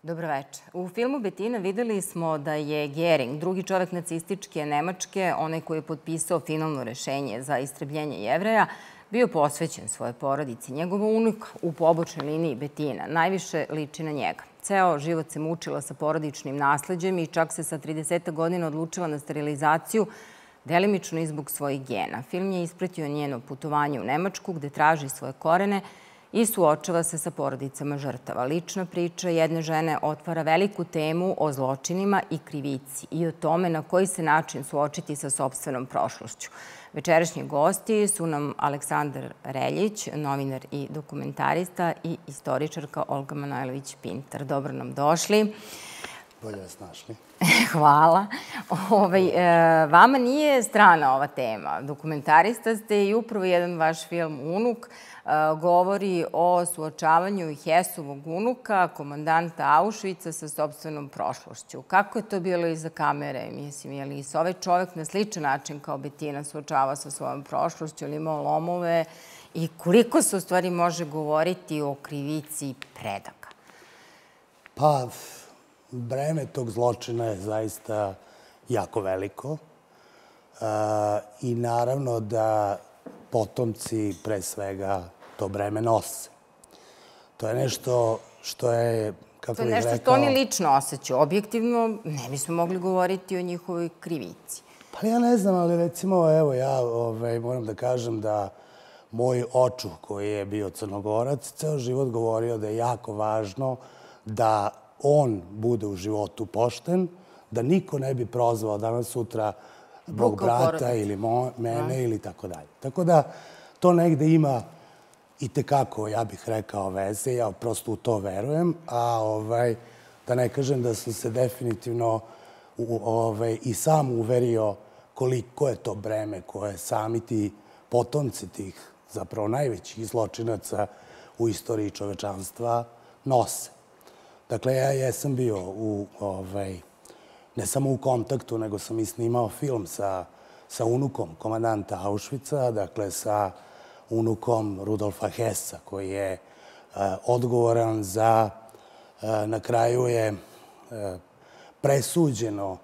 Dobroveče. U filmu Betina videli smo da je Gering, drugi čovek nacističke Nemačke, onaj koji je potpisao finalno rešenje za istrebljenje Jevreja, bio posvećen svojoj porodici. Njegova unuka u pobočnoj liniji Betina najviše liči na njega. Ceo život se mučila sa porodičnim nasleđem i čak se sa 30 godina odlučila na sterilizaciju, delimično i zbog svojih gena. Film je ispratio njeno putovanje u Nemačku gde traži svoje korene i suočava se sa porodicama žrtava. Lična priča jedne žene otvara veliku temu o zločinima i krivici i o tome na koji se način suočiti sa sopstvenom prošlošću. Večerašnji gosti su nam Aleksandar Reljić, novinar i dokumentarista, i istoričarka Olga Manojlović-Pintar. Dobro nam došli. Bolje vas našli. Hvala. Vama nije strana ova tema. Dokumentarista ste i upravo jedan vaš film Unuk govori o suočavanju Hesovog unuka, komandanta Auschwitza, sa sopstvenom prošlošću. Kako je to bilo iza kamere? Mislim, je li se ovaj čovek na sličan način kao Betina suočava sa svojom prošlošću, ili imao lomove i koliko se u stvari može govoriti o krivici predaka? Pa, breme tog zločina je zaista jako veliko i naravno da potomci pre svega to breme nose. To je nešto što je, kako bih rekao... To je nešto što oni lično osjećaju. Objektivno ne bismo mogli govoriti o njihovoj krivici. Pa ja ne znam, ali recimo, evo, ja moram da kažem da moj očuh koji je bio Crnogorac ceo život govorio da je jako važno da on bude u životu pošten, da niko ne bi prozvao danas sutra mog brata ili mene ili tako dalje. Tako da to negde ima i tekako, ja bih rekao, veze. Ja prosto u to verujem, a da ne kažem da sam se definitivno i sam uverio koliko je to breme koje sami ti potomci tih zapravo najvećih zločinaca u istoriji čovečanstva nose. Dakle, ja jesam bio ne samo u kontaktu, nego sam i snimao film sa unukom komandanta Auschwitza, dakle sa unukom Rudolfa Hessa, koji je odgovoran za, na kraju je presuđeno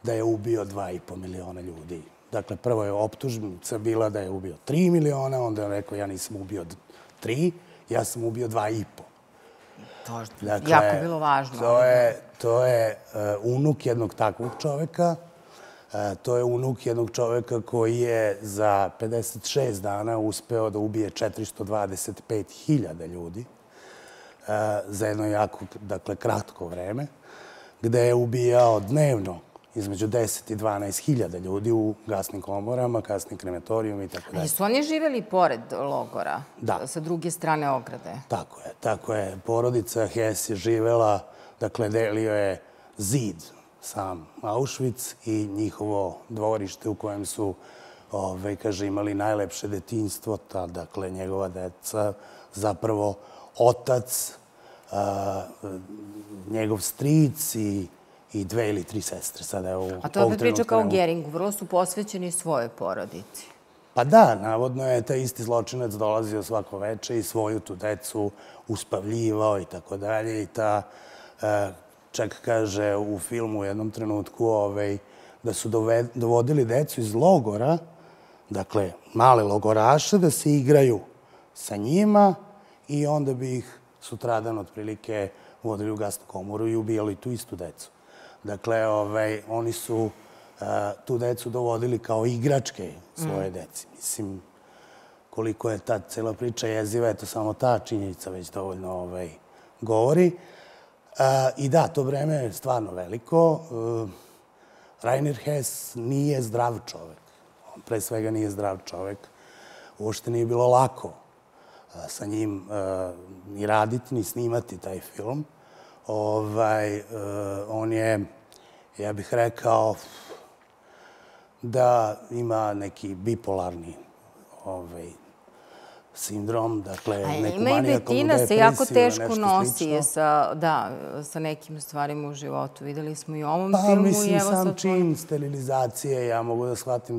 da je ubio 2,5 miliona ljudi. Dakle, prvo je optužnica bila da je ubio 3 miliona, onda je rekao ja nisam ubio 3, ja sam ubio 2,5. To je jako bilo važno. To je unuk jednog takvog čoveka. To je unuk jednog čoveka koji je za 56 dana uspeo da ubije 425.000 ljudi za jedno jako, dakle, kratko vreme, gde je ubijao dnevno između 10 i 12.000 ljudi u gasnim komorama, kasnim krematorijom i tako dalje. Ali su oni živjeli pored logora? Da. Sa druge strane ograde? Tako je, tako je. Porodica Hess je živela, dakle, delio je zid sam Auschwitz i njihovo dvorište u kojem su, kaže, imali najlepše detinjstvo, dakle, njegova deca, zapravo otac, njegov stric i 2 ili 3 sestre. A to je opet priča kao Geringu, vrlo su posvećeni svojoj porodici. Pa da, navodno je taj isti zločinac dolazio svako veče i svoju tu decu uspavljivao i tako dalje. I ta, čak kaže u filmu u jednom trenutku da su dovodili decu iz logora, dakle male logoraše, da se igraju sa njima i onda bi ih sutradan otprilike vodili u gasnu komoru i ubijali tu istu decu. Dakle, oni su tu decu dovodili kao igračke svoje deci. Mislim, koliko je ta cela priča jeziva, eto samo ta činjenica već dovoljno govori. I da, to vreme je stvarno veliko. Rainer Hess nije zdrav čovek. On pre svega nije zdrav čovek. Uopšte nije bilo lako sa njim ni raditi, ni snimati taj film. On je, ja bih rekao, da ima neki bipolarni sindrom, dakle, neku manijakalnu depresiju. Ima i Betina se jako teško nosi sa nekim stvarima u životu. Videli smo i u ovom filmu. Pa, mislim, sam čin sterilizacije, ja mogu da shvatim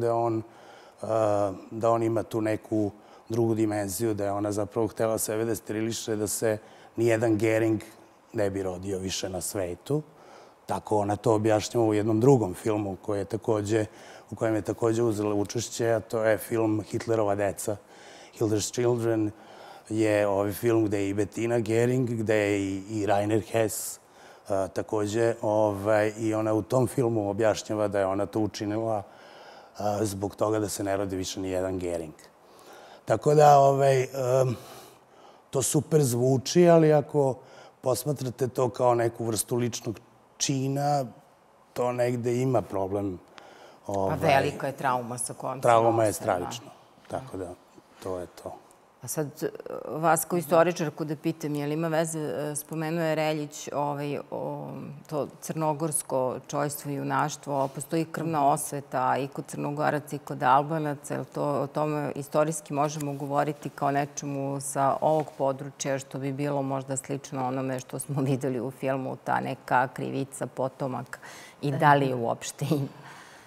da on ima tu neku drugu dimenziju, da je ona zapravo htela sebe da steriliše, da se nijedan Gering ne bi rodio više na svetu. Tako ona to objašnjava u jednom drugom filmu u kojem je takođe uzela učešće, a to je film Hitlerova deca. Hitler's Children je ovaj film gde je i Bettina Gering, gde je i Rainer Hess takođe. I ona u tom filmu objašnjava da je ona to učinila zbog toga da se ne rodi više ni jedan Gering. Tako da to super zvuči, ali ako posmatrate to kao neku vrstu ličnog čina, to negde ima problem. Pa velika je trauma sa kojom se trauma je stravično. Tako da, to je to. A sad, vas kao istoričarku da pitam, je li ima veze, spomenuo je Reljić, to crnogorsko čojstvo i junaštvo, postoji krvna osveta i kod Crnogoraca i kod Albanaca, je li o tome istorijski možemo govoriti kao nečemu sa ovog područja, što bi bilo možda slično onome što smo videli u filmu, ta neka krivica, potomak, i da li je uopšte ima?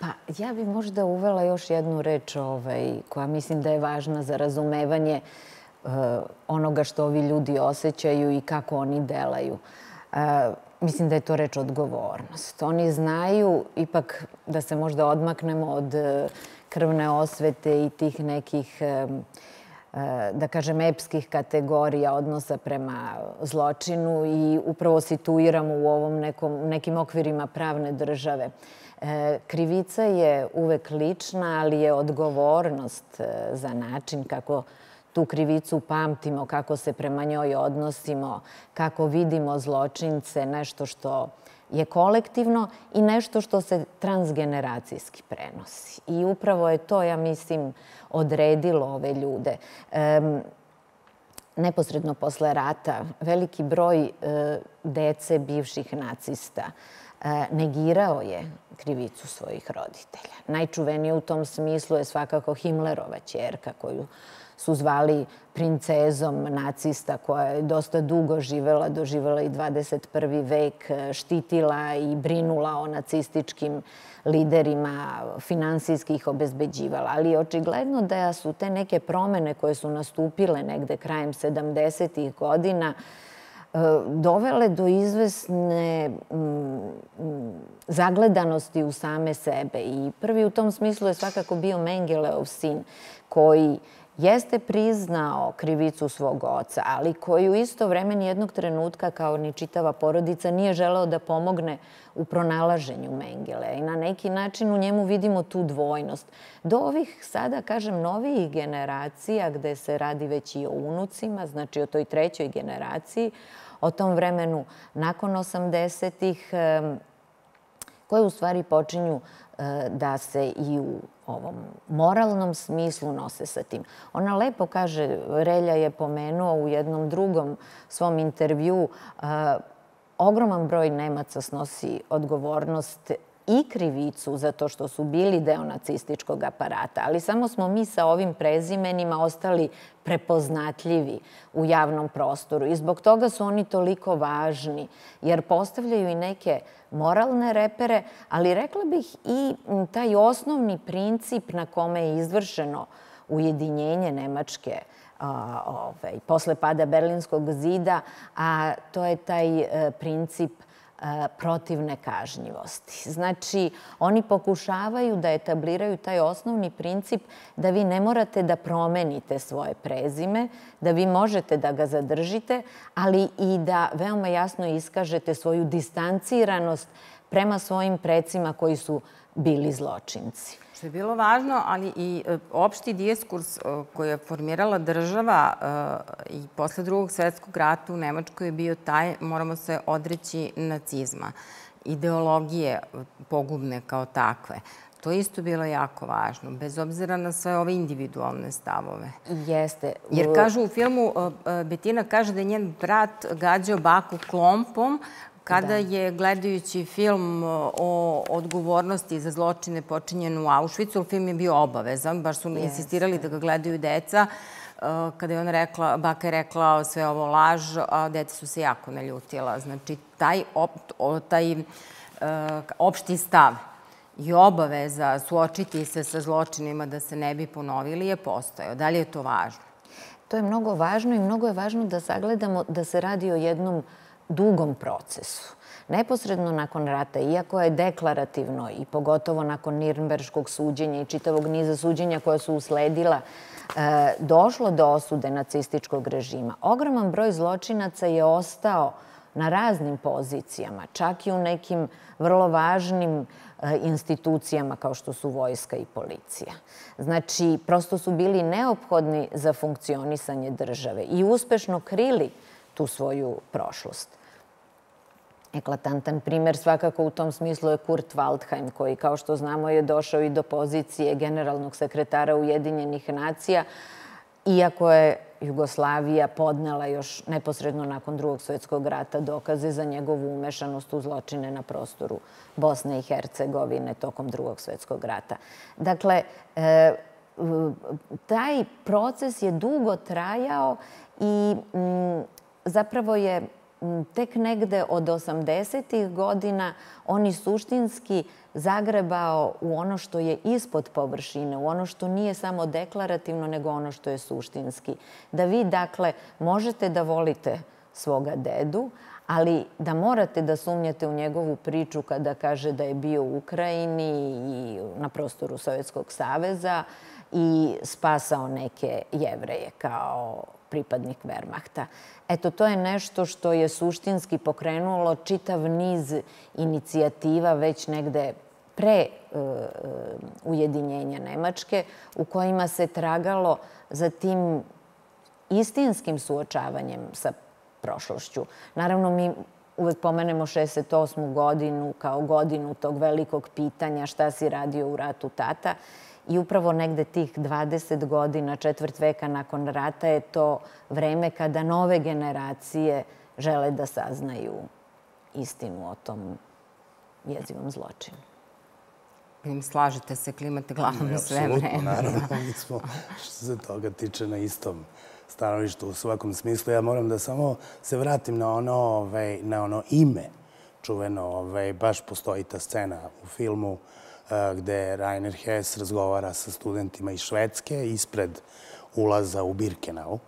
Pa ja bih možda uvela još jednu reč koja mislim da je važna za razumevanje onoga što ovi ljudi osjećaju i kako oni delaju. Mislim da je to reč odgovornost. Oni znaju ipak da se možda odmaknemo od krvne osvete i tih nekih, da kažem, epskih kategorija odnosa prema zločinu i upravo situiramo u nekim okvirima pravne države. Krivica je uvek lična, ali je odgovornost za način kako tu krivicu pamtimo, kako se prema njoj odnosimo, kako vidimo zločince, nešto što je kolektivno i nešto što se transgeneracijski prenosi. I upravo je to, ja mislim, odredilo ove ljude. Neposredno posle rata veliki broj dece bivših nacista negirao je krivicu svojih roditelja. Najčuvenije u tom smislu je svakako Himlerova ćerka, koju su zvali princezom nacista, koja je dosta dugo doživela i 21. vek, štitila i brinula o nacističkim liderima, finansijski ih obezbeđivala. Ali je očigledno da su te neke promene koje su nastupile negde krajem 70. godina dovele do izvesne zagledanosti u same sebe. I prvi u tom smislu je svakako bio Mengeleov sin, koji jeste priznao krivicu svog oca, ali koji u isto vreme nijednog trenutka, kao ni čitava porodica, nije želeo da pomogne u pronalaženju Mengele. I na neki način u njemu vidimo tu dvojnost. Do ovih sada, kažem, novijih generacija, gde se radi već i o unucima, znači o toj trećoj generaciji, o tom vremenu nakon 80-ih, koje u stvari počinju da se i u ovom moralnom smislu nose sa tim. Ona lepo kaže, Relja je pomenuo u jednom drugom svom intervjuu, ogroman broj Nemaca snosi odgovornost i krivicu za to što su bili deo nacističkog aparata, ali samo smo mi sa ovim prezimenima ostali prepoznatljivi u javnom prostoru i zbog toga su oni toliko važni, jer postavljaju i neke moralne repere, ali rekla bih i taj osnovni princip na kome je izvršeno ujedinjenje Nemačke posle pada Berlinskog zida, a to je taj princip protiv nekažnjivosti. Znači, oni pokušavaju da etabliraju taj osnovni princip da vi ne morate da promenite svoje prezime, da vi možete da ga zadržite, ali i da veoma jasno iskažete svoju distanciranost prema svojim precima koji su bili zločinci. Što je bilo važno, ali i opšti diskurs koji je formirala država i posle Drugog svetskog rata u Nemačkoj je bio taj, moramo se odreći nacizma, ideologije pogubne kao takve. To je isto bilo jako važno, bez obzira na sve ove individualne stavove. Jeste. Jer kažu u filmu, Bettina kaže da je njen brat gađao baku klompom, kada je gledajući film o odgovornosti za zločine počinjene u Auschwitzu, film je bio obavezan, baš su insistirali da ga gledaju deca. Kada je ona rekla, baka je rekla sve ovo laž, a deca su se jako naljutila. Znači, taj opšti stav i obaveza suočiti se sa zločinima da se ne bi ponovili je postojao. Da li je to važno? To je mnogo važno i mnogo je važno da sagledamo da se radi o jednom dugom procesu. Neposredno nakon rata, iako je deklarativno i pogotovo nakon Nirnberškog suđenja i čitavog niza suđenja koja su usledila, došlo do osude nacističkog režima, ogroman broj zločinaca je ostao na raznim pozicijama, čak i u nekim vrlo važnim institucijama kao što su vojska i policija. Znači, prosto su bili neophodni za funkcionisanje države i uspešno krili tu svoju prošlost. Eklatantan primer svakako u tom smislu je Kurt Waldheim, koji, kao što znamo, je došao i do pozicije generalnog sekretara Ujedinjenih nacija, iako je Jugoslavija podnela još neposredno nakon Drugog svjetskog rata dokaze za njegovu umešanost u zločine na prostoru Bosne i Hercegovine tokom Drugog svjetskog rata. Dakle, taj proces je dugo trajao i zapravo je tek negde od 80-ih godina on je suštinski zagrebao u ono što je ispod površine, u ono što nije samo deklarativno, nego ono što je suštinski. Da vi, dakle, možete da volite svoga dedu, ali da morate da sumnjate u njegovu priču kada kaže da je bio u Ukrajini i na prostoru Sovjetskog saveza i spasao neke Jevreje kao pripadnik Wehrmachta. Eto, to je nešto što je suštinski pokrenulo čitav niz inicijativa već negde pre ujedinjenja Nemačke, u kojima se tragalo za tim istinskim suočavanjem sa prošlošću. Naravno, mi uvek pomenemo 68. godinu kao godinu tog velikog pitanja šta si radio u ratu, tata. I upravo negde tih 20 godina, četvrt veka nakon rata je to vreme kada nove generacije žele da saznaju istinu o tom jezivom zločinu. Slažete se, klimate glavom sve vreme. Apsolutno, naravno. Mi smo, što se toga tiče, na istom stanovištu u svakom smislu. Ja moram da samo se vratim na ono ime čuveno. Baš postoji ta scena u filmu gde Rainer Hess razgovara sa studentima iz Švedske ispred ulaza u Birkenau,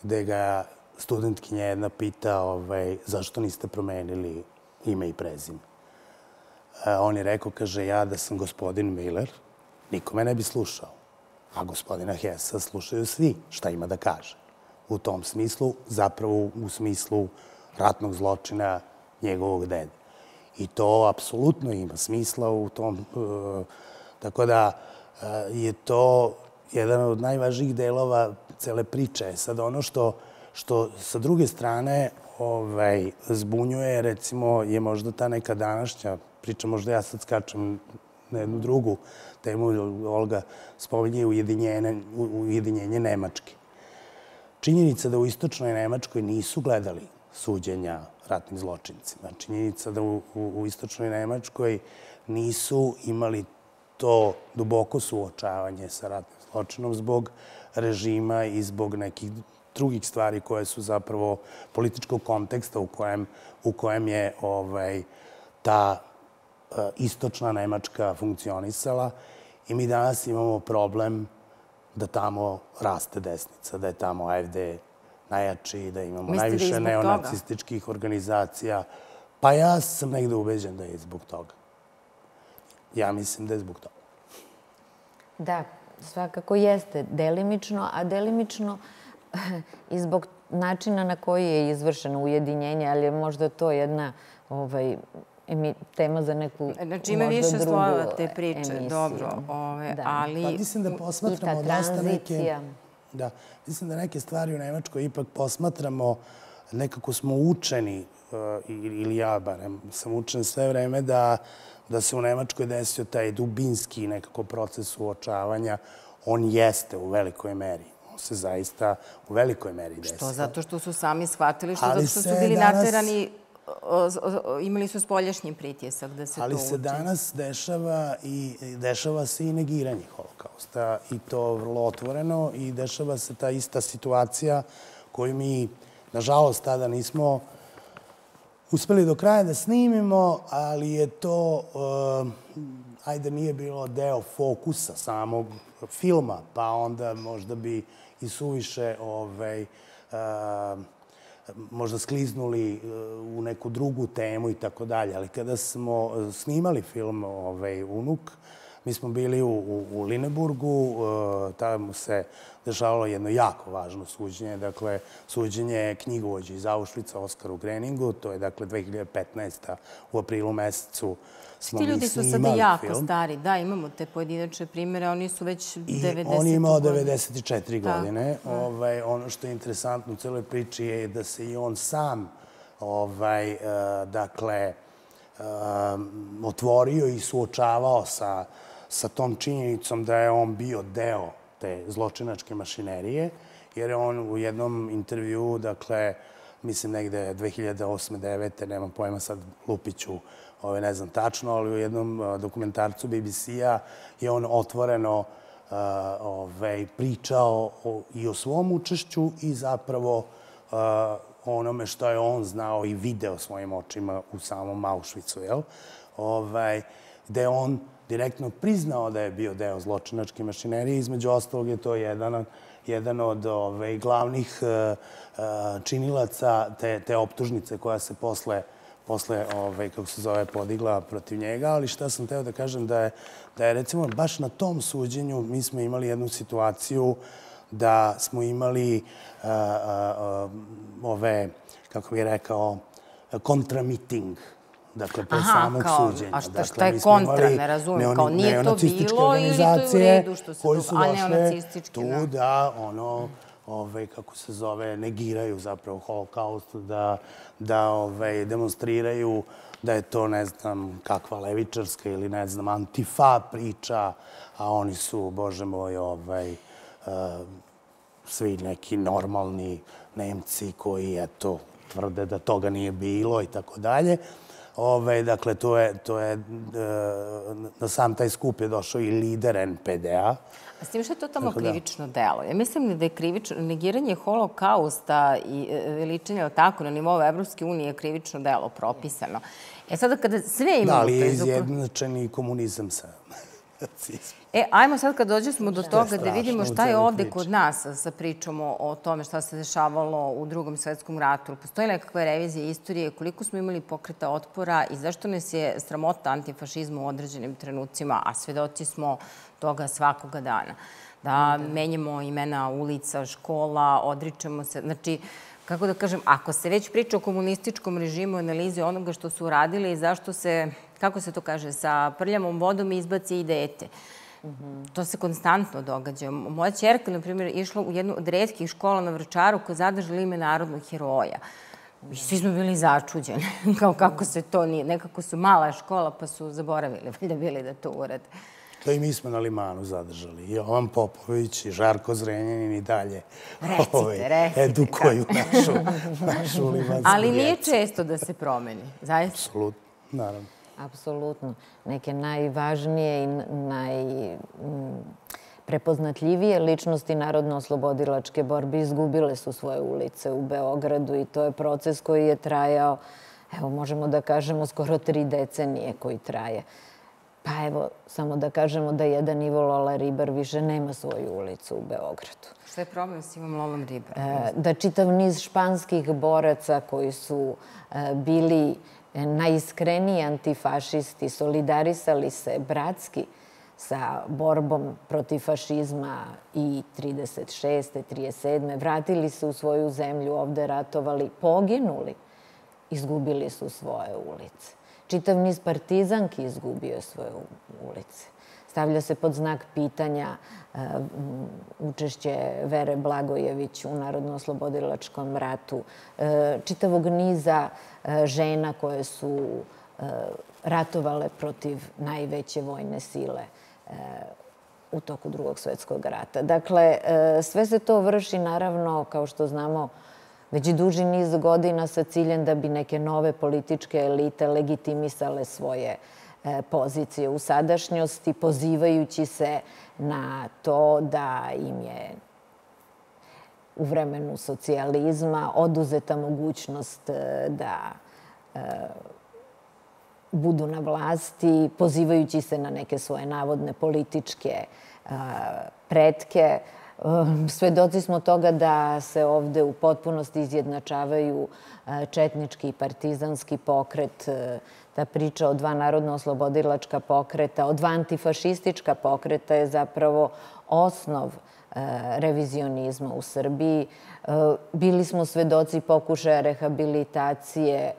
gde ga studentkinja jedna pita zašto niste promenili ime i prezime. On je rekao, kaže, ja da sam gospodin Miller, niko me ne bi slušao. A gospodina Hessa slušaju svi šta ima da kaže. U tom smislu, zapravo u smislu ratnog zločina njegovog dede. I to apsolutno ima smisla u tom. Tako da je to jedan od najvažnijih delova cele priče. Sad ono što sa druge strane zbunjuje, recimo, je možda ta neka današnja priča, možda ja sad skačem na jednu drugu temu, Olga spominje ujedinjenje Nemačke. Činjenica da u istočnoj Nemačkoj nisu gledali suđenja ratnim zločincima. Činjenica da u istočnoj Nemačkoj nisu imali to duboko suočavanje sa ratnim zločinom zbog režima i zbog nekih drugih stvari koje su zapravo političkog konteksta u kojem je ta istočna Nemačka funkcionisala. I mi danas imamo problem da tamo raste desnica, da je tamo AfD najjači, da imamo najviše neonacističkih organizacija. Pa ja sam negde ubeđen da je zbog toga. Ja mislim da je zbog toga. Da, svakako jeste delimično, a delimično i zbog načina na koji je izvršeno ujedinjenje, ali je možda to jedna tema za neku možda drugu emisiju. Znači ima više slojeva te priče, dobro. Ali... Pa mislim da posmatramo dosta neke... Da, mislim da neke stvari u Nemačkoj ipak posmatramo, nekako smo učeni, ili ja barem sam učen sve vreme, da se u Nemačkoj desio taj dubinski nekako proces suočavanja. On jeste u velikoj meri. On se zaista u velikoj meri desio. Što? Zato što su sami shvatili, zato što su bili naterani, imali su spoljašnji pritisak da se to uči. Ali se danas dešava se i negiranje holokausta i to vrlo otvoreno i dešava se ta ista situacija koju mi, nažalost, tada nismo uspeli do kraja da snimimo, ali je to, ajde, nije bilo deo fokusa samog filma, pa onda možda bi i suviše možda skliznuli u neku drugu temu i tako dalje. Ali kada smo snimali film Unuk, mi smo bili u Lineburgu, tamo se dešavalo jedno jako važno suđenje, dakle, suđenje knjigovođe iz Auschwitza Oskaru Greningu, to je, dakle, 2015. u aprilu mesecu smo mi snimali film. Ti ljudi su sada jako stari, da, imamo te pojedinačne primere, oni su već 90. On je imao 94 godine. Ono što je interesantno u celoj priči je da se i on sam, dakle, otvorio i suočavao sa tom činjenicom da je on bio deo te zločinačke mašinerije, jer je on u jednom intervju, dakle, mislim negde 2008-2009, nemam pojma sad Lupiću, ne znam tačno, ali u jednom dokumentarcu BBC-a je on otvoreno pričao i o svom učešću i zapravo onome što je on znao i video svojim očima u samom Auschwitzu, gde on direktno priznao da je bio deo zločinačke mašinerije. Između ostalog je to jedan od glavnih činilaca te optužnice koja se posle, kako se zove, podigla protiv njega. Ali šta sam teo da kažem da je recimo baš na tom suđenju mi smo imali jednu situaciju da smo imali kako bih rekao, kontramiting. Dakle, pre samog suđenja. A šta je kontra, ne razumijem, kao nije to bilo ili to je u redu što se dogodilo, a neonacistički, tu da, kako se zove, negiraju zapravo holokaust, da demonstriraju da je to, ne znam, kakva levičarska ili, ne znam, antifa priča, a oni su, bože moj, svi neki normalni Nemci koji, eto, tvrde da toga nije bilo i tako dalje. Dakle, to je, na sam taj skup je došao i lider NPD-a. A s tim što je totalno krivično delo? Ja mislim da je negiranje holokausta i veličanje tako na nivou Evropske unije krivično delo propisano. Sada kada sve imamo... Da, ali je izjednačen i komunizam sa nacizmom. Ajmo sad kad dođemo do toga da vidimo šta je ovde kod nas sa pričom o tome šta se dešavalo u Drugom svetskom ratu. Postoji nekakva revizija istorije, koliko smo imali pokreta otpora i zašto nas je sramota antifašizma u određenim trenucima, a svedoci smo toga svakoga dana. Da menjamo imena ulica, škola, odričemo se. Znači, kako da kažem, ako se već priča o komunističkom režimu, analizi onoga što su uradili i zašto se, kako se to kaže, sa prljavom vodom izbaci i dete. To se konstantno događa. Moja ćerka, na primjer, išla u jednu od retkih škola na Vračaru koja je zadržala ime narodnog heroja. I svi smo bili začuđeni, kao kako se to nije. Nekako su mala škola pa su zaboravili, valjda bili da to urade. To i mi smo na Limanu zadržali. I Jovan Popović i Žarko Zrenjanin i dalje edukuju našu limansku djecu. Ali nije često da se promeni, zaista? Apsolutno, naravno. Apsolutno. Neke najvažnije i najprepoznatljivije ličnosti narodno-oslobodilačke borbe izgubile su svoje ulice u Beogradu i to je proces koji je trajao, evo možemo da kažemo, skoro 3 decenije koji traje. Pa evo, samo da kažemo da jedan Ivo Lola Ribar više nema svoju ulicu u Beogradu. Šta je problem s Ivom Lolom Ribarom? Da čitav niz španskih boraca koji su bili najiskreniji antifašisti, solidarisali se bratski sa borbom protiv fašizma i 36. 37. Vratili se u svoju zemlju, ovde ratovali, poginuli, izgubili su svoje ulice. Čitav niz partizanki izgubio svoje ulice. Stavlja se pod znak pitanja učešće Vere Blagojević u Narodno-oslobodilačkom ratu, čitavog niza žena koje su ratovale protiv najveće vojne sile u toku Drugog svjetskog rata. Dakle, sve se to vrši, naravno, kao što znamo, već duži niz godina sa ciljem da bi neke nove političke elite legitimisale svoje pozicije u sadašnjosti, pozivajući se na to da im je u vremenu socijalizma oduzeta mogućnost da budu na vlasti, pozivajući se na neke svoje navodne političke pretke, Svedoci smo toga da se ovde u potpunosti izjednačavaju četnički i partizanski pokret, ta priča o dva narodno-oslobodilačka pokreta, o dva antifašistička pokreta je zapravo osnov revizionizma u Srbiji. Bili smo svedoci pokušaja rehabilitacije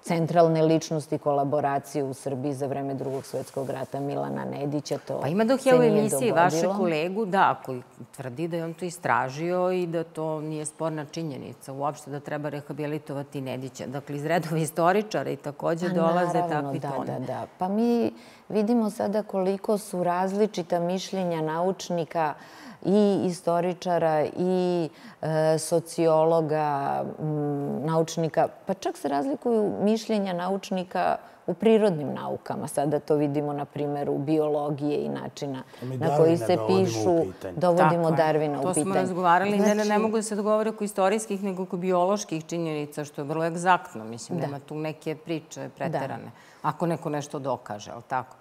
centralne ličnosti kolaboracije u Srbiji za vreme Drugog svetskog rata Milana Nedića. Pa ima dok je u emisiji vašeg kolegu, da, koji tvrdi da je on to istražio i da to nije sporna činjenica uopšte da treba rehabilitovati Nedića. Dakle, iz redova istoričara i takođe dolaze takvi toni. Da. Pa mi vidimo sada koliko su različita mišljenja naučnika i istoričara i sociologa, naučnika, pa čak se razlikuju mišljenja naučnika u prirodnim naukama. Sada to vidimo na primjeru biologije i načina na koji se pišu. Dovodimo Darwina u pitanje. To smo razgovarali. Ne mogu da se dogovore oko istorijskih, nego oko bioloških činjenica, što je vrlo egzaktno. Mislim, nema tu neke priče preterane. Ako neko nešto dokaže, ali tako?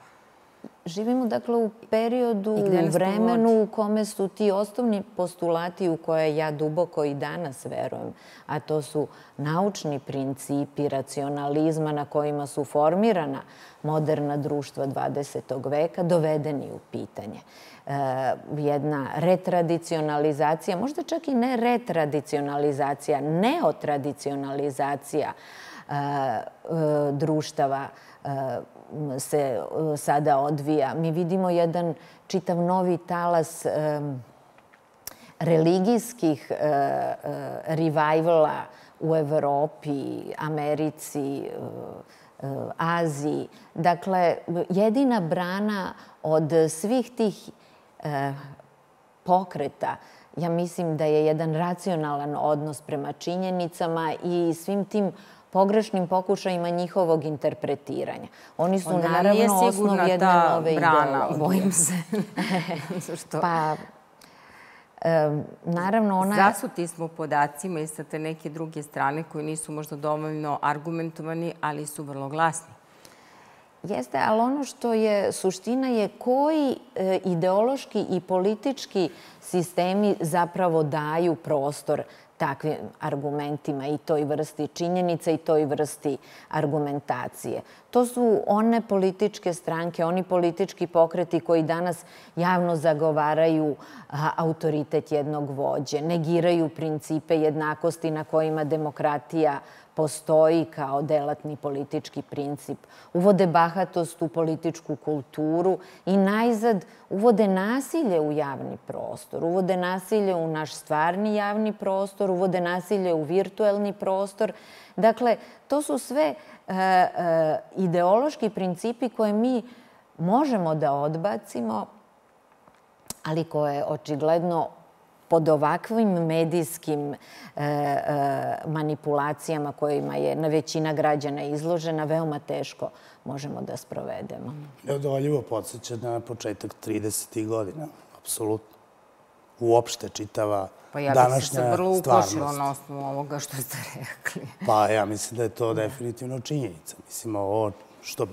Živimo, dakle, u periodu, u vremenu u kome su ti osnovni postulati u koje ja duboko i danas verujem, a to su naučni principi racionalizma na kojima su formirana moderna društva 20. veka, dovedeni u pitanje. Jedna retradicionalizacija, možda čak i ne retradicionalizacija, neotradicionalizacija društava se sada odvija. Mi vidimo jedan čitav novi talas religijskih revivala u Evropi, Americi, Aziji. Dakle, jedina brana od svih tih pokreta, ja mislim da je jedan racionalan odnos prema činjenicama i svim tim pogrešnim pokušajima njihovog interpretiranja. Oni su naravno osnov jedne nove ideologije. Bojim se. Pa, naravno ona... Zasuti smo podacima i sa te neke druge strane koji nisu možda dovoljno argumentovani, ali su vrlo glasni. Jeste, ali ono što je suština je koji ideološki i politički sistemi zapravo daju prostor takvim argumentima i toj vrsti činjenica i toj vrsti argumentacije. To su one političke stranke, oni politički pokreti koji danas javno zagovaraju autoritet jednog vođe, negiraju principe jednakosti na kojima demokratija postoji kao delatni politički princip. Uvode bahatost u političku kulturu i najzad uvode nasilje u javni prostor. Uvode nasilje u naš stvarni javni prostor, uvode nasilje u virtuelni prostor. Dakle, to su sve ideološki principi koje mi možemo da odbacimo, ali koje očigledno pod ovakvim medijskim manipulacijama kojima je većina građana izložena, veoma teško možemo da sprovedemo. Neodoljivo podsjeća na početak 30. godina, apsolutno. Uopšte čitava današnja stvarnost. Pa ja bih se vrlo uplašila na osnovu ovoga što ste rekli. Pa ja mislim da je to definitivno činjenica. Mislim, ovo što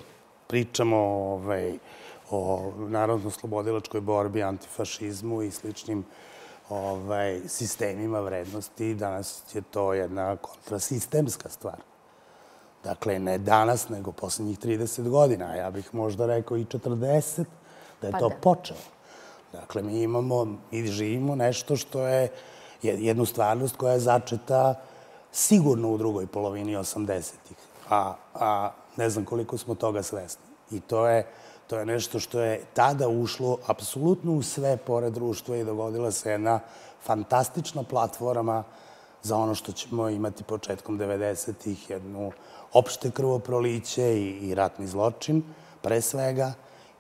pričamo o narodno-slobodilačkoj borbi, antifašizmu i sličnim sistemima vrednosti, danas je to jedna kontrasistemska stvar. Dakle, ne danas, nego poslednjih 30 godina. Ja bih možda rekao i 40, da je to počelo. Dakle, mi živimo nešto što je jednu stvarnost koja je začeta sigurno u drugoj polovini 80-ih, a ne znam koliko smo toga svesni. I to je nešto što je tada ušlo apsolutno u sve pore društva i dogodila se jedna fantastična platforma za ono što ćemo imati početkom 90-ih, jednu opšte krvoproliće i ratni zločin, pre svega,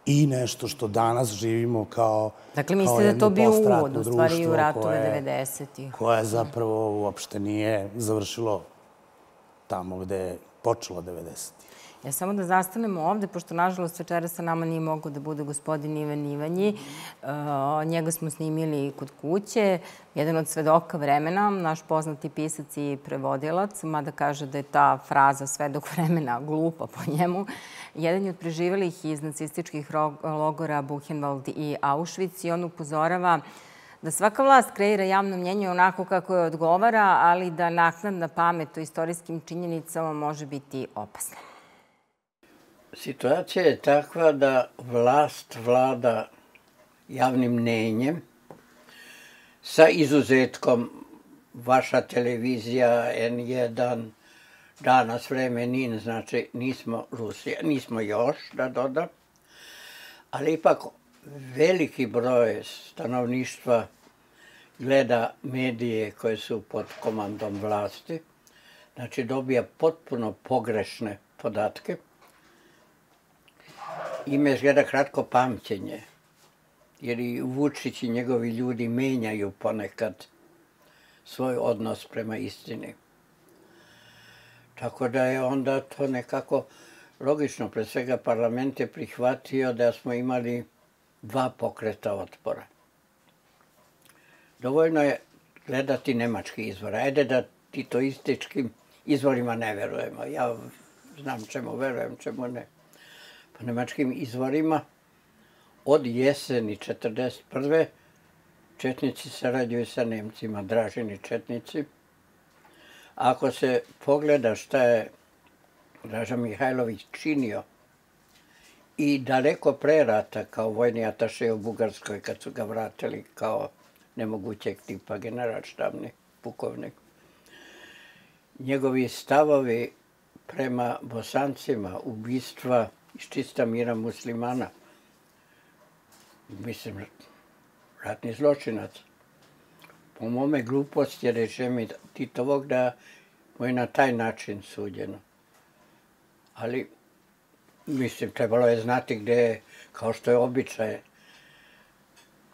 i nešto što danas živimo kao dakle, mislite da je to bio uvod, u stvari, i u ratove 90-ih? Koje zapravo uopšte nije završilo tamo gde je počelo 90-ih. Ja samo da zastanemo ovde, pošto nažalost večera sa nama nije mogao da bude gospodin Ivan Ivanji. Njega smo snimili kod kuće. Jedan od svedoka vremena, naš poznati pisac i prevodilac, mada kaže da je ta fraza svedok vremena glupa po njemu. Jedan je od preživelih iz nacističkih logora Buchenwald i Auschwitz i on upozorava da svaka vlast kreira javno mnjenje onako kako je odgovara, ali da naknadna pamet o istorijskim činjenicama može biti opasna. Situacija je takva da vlast vlada javnim mnjenjem sa izuzetkom vaša televizija, N1, danas vreme NIN, znači nismo Rusija, nismo još, da dodam, ali ipak veliki broj stanovništva gleda medije koje su pod komandom vlasti, znači dobija potpuno pogrešne podatke. Ima izgleda kratko pamćenje, jer i Vučić i njegovi ljudi menjaju ponekad svoj odnos prema istini. Tako da je onda to nekako logično. Pre svega parlament je prihvatio da smo imali 2 pokreta otpora. Dovoljno je gledati nemački izvor. Ajde da titoističkim izvorima ne verujemo. Ja znam čemu verujem, čemu ne. Po nemačkim izvorima od jeseni 1941. četnici sarađuju sa Nemcima, Dražini četnici. Ako se pogleda šta je Draža Mihajlović činio i daleko pre rata kao vojni ataše u Bugarskoj, kad su ga vratili kao nemogućeg tipa generalštabni pukovnik, njegovi stavovi prema Bosancima, ubistva iz čista mira muslimana, mislim, ratni zločinac. Po mome glupost je režim Titovog da mu je na taj način suđeno. Ali, mislim, trebalo je znati gde je, kao što je običaj,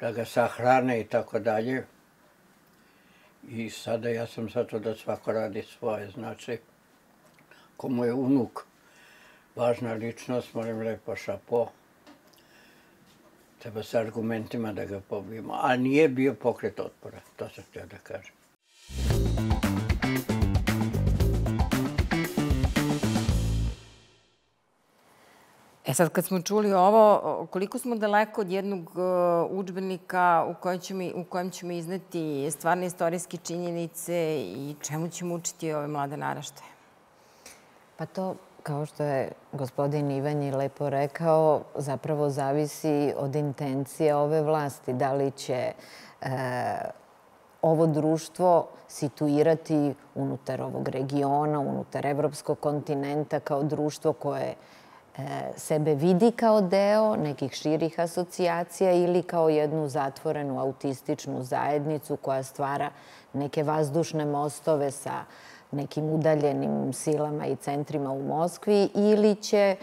da ga sahrane i tako dalje. I sada ja sam za to da svako radi svoje. Znači, komu je unuk važna ličnost, molim lepo šapo. Treba sa argumentima da ga pobijemo. A nije bio pokret otpora, to sam htio da kažem. Sad kad smo čuli ovo, koliko smo daleko od jednog udžbenika u kojem ćemo izneti stvarne istorijske činjenice i čemu ćemo učiti ove mlade naraštaje? Pa to, kao što je gospodin Ivanji lepo rekao, zapravo zavisi od intencije ove vlasti. Da li će ovo društvo situirati unutar ovog regiona, unutar evropskog kontinenta kao društvo koje sebe vidi kao deo nekih širih asocijacija ili kao jednu zatvorenu autističnu zajednicu koja stvara neke vazdušne mostove sa nekim udaljenim silama i centrima u Moskvi, ili će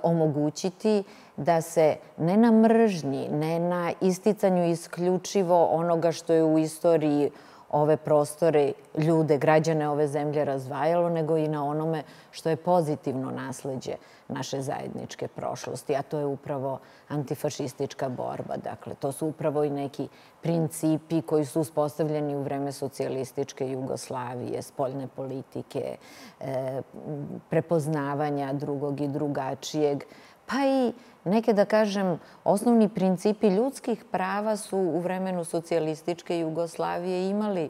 omogućiti da se ne na mržnji, ne na isticanju isključivo onoga što je u istoriji ove prostore, ljude, građane ove zemlje razvajalo, nego i na onome što je pozitivno nasleđe naše zajedničke prošlosti, a to je upravo antifašistička borba. Dakle, to su upravo i neki principi koji su uspostavljeni u vreme socijalističke Jugoslavije, spoljne politike, prepoznavanja drugog i drugačijeg, pa i neke, da kažem, osnovni principi ljudskih prava su u vremenu socijalističke Jugoslavije imali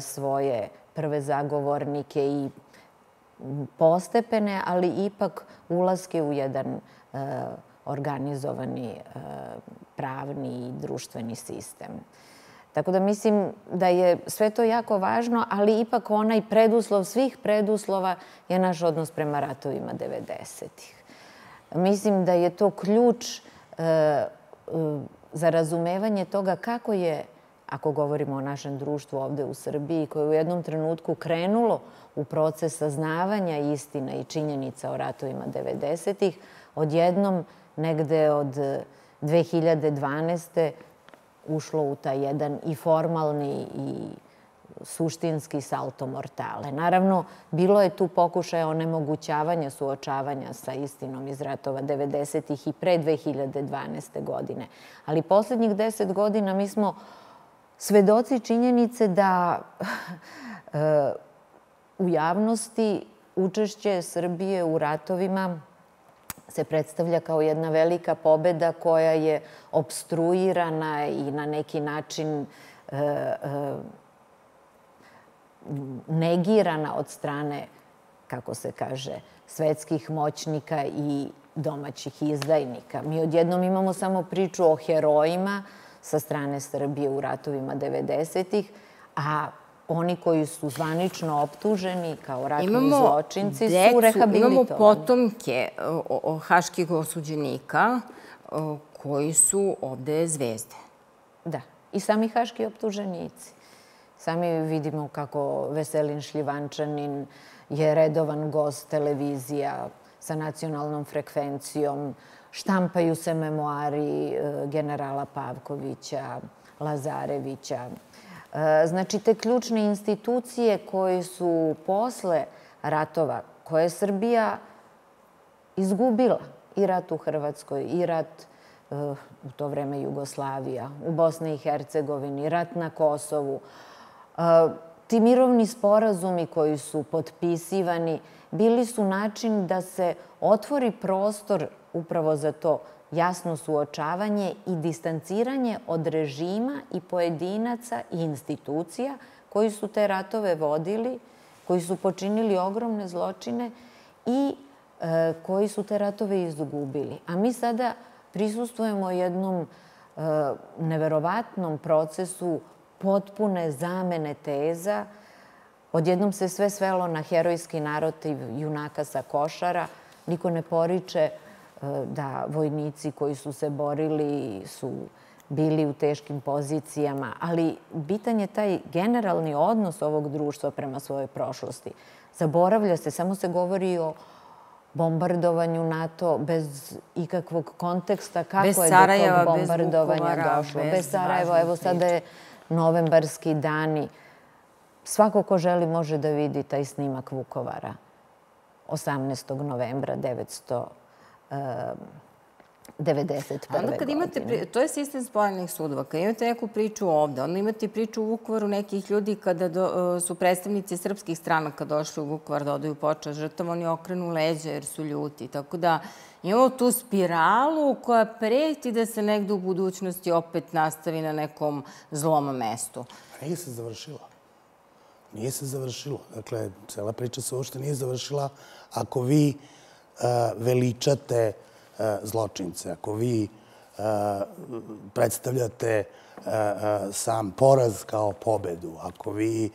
svoje prve zagovornike i postepene, ali ipak ulaske u jedan organizovani pravni i društveni sistem. Tako da mislim da je sve to jako važno, ali ipak onaj preduslov svih preduslova je naš odnos prema ratovima 90-ih. Mislim da je to ključ za razumevanje toga kako je, ako govorimo o našem društvu ovde u Srbiji, koje je u jednom trenutku krenulo u proces saznavanja istina i činjenica o ratovima 90-ih, odjednom negde od 2012. ušlo u taj jedan i formalni i suštinski salto mortale. Naravno, bilo je tu pokušaja onemogućavanja suočavanja sa istinom iz ratova 90-ih i pre 2012. godine. Ali poslednjih 10 godina mi smo svedoci činjenice da u javnosti učešće Srbije u ratovima se predstavlja kao jedna velika pobeda koja je opstruirana i na neki način negirana od strane, kako se kaže, svetskih moćnika i domaćih izdajnika. Mi odjednom imamo samo priču o herojima sa strane Srbije u ratovima 90-ih, a oni koji su zvanično optuženi kao ratni zločinci su rehabilitovani. Imamo potomke haških osuđenika koji su ovde zvezde. Da, i sami haški optuženici. Sami vidimo kako Veselin Šljivančanin je redovan gost televizija sa nacionalnom frekvencijom. Štampaju se memoari generala Pavkovića, Lazarevića. Znači, te ključne institucije koje su posle ratova, koje je Srbija izgubila, i rat u Hrvatskoj, i rat u to vreme Jugoslavija, u Bosni i Hercegovini, rat na Kosovu. Ti mirovni sporazumi koji su potpisivani bili su način da se otvori prostor upravo za to jasno suočavanje i distanciranje od režima i pojedinaca i institucija koji su te ratove vodili, koji su počinili ogromne zločine i koji su te ratove izgubili. A mi sada prisustvujemo jednom neverovatnom procesu potpune zamene teza. Odjednom se sve svelo na herojski narotiv junaka sa Košara. Niko ne poriče da vojnici koji su se borili su bili u teškim pozicijama, ali bitan je taj generalni odnos ovog društva prema svojoj prošlosti. Zaboravlja se, samo se govori o bombardovanju NATO bez ikakvog konteksta kako je do tog bombardovanja došlo. Bez Sarajeva, evo sada je novembarski dani. Svako ko želi može da vidi taj snimak Vukovara 18. novembra 1991. godine. To je sistem spojenih sudova. Kad imate neku priču ovde, onda imate priču u Vukovaru nekih ljudi kada su predstavnici srpskih stranaka došli u Vukovar da odaju počast žrtava, oni okrenu leđa jer su ljuti. Tako da imamo tu spiralu koja preti da se negde u budućnosti opet nastavi na nekom zlom mestu. Nije se završila. Nije se završilo. Dakle, cela priča se uopšte nije završila ako vi veličate zločince, ako vi predstavljate sam poraz kao pobedu, ako vi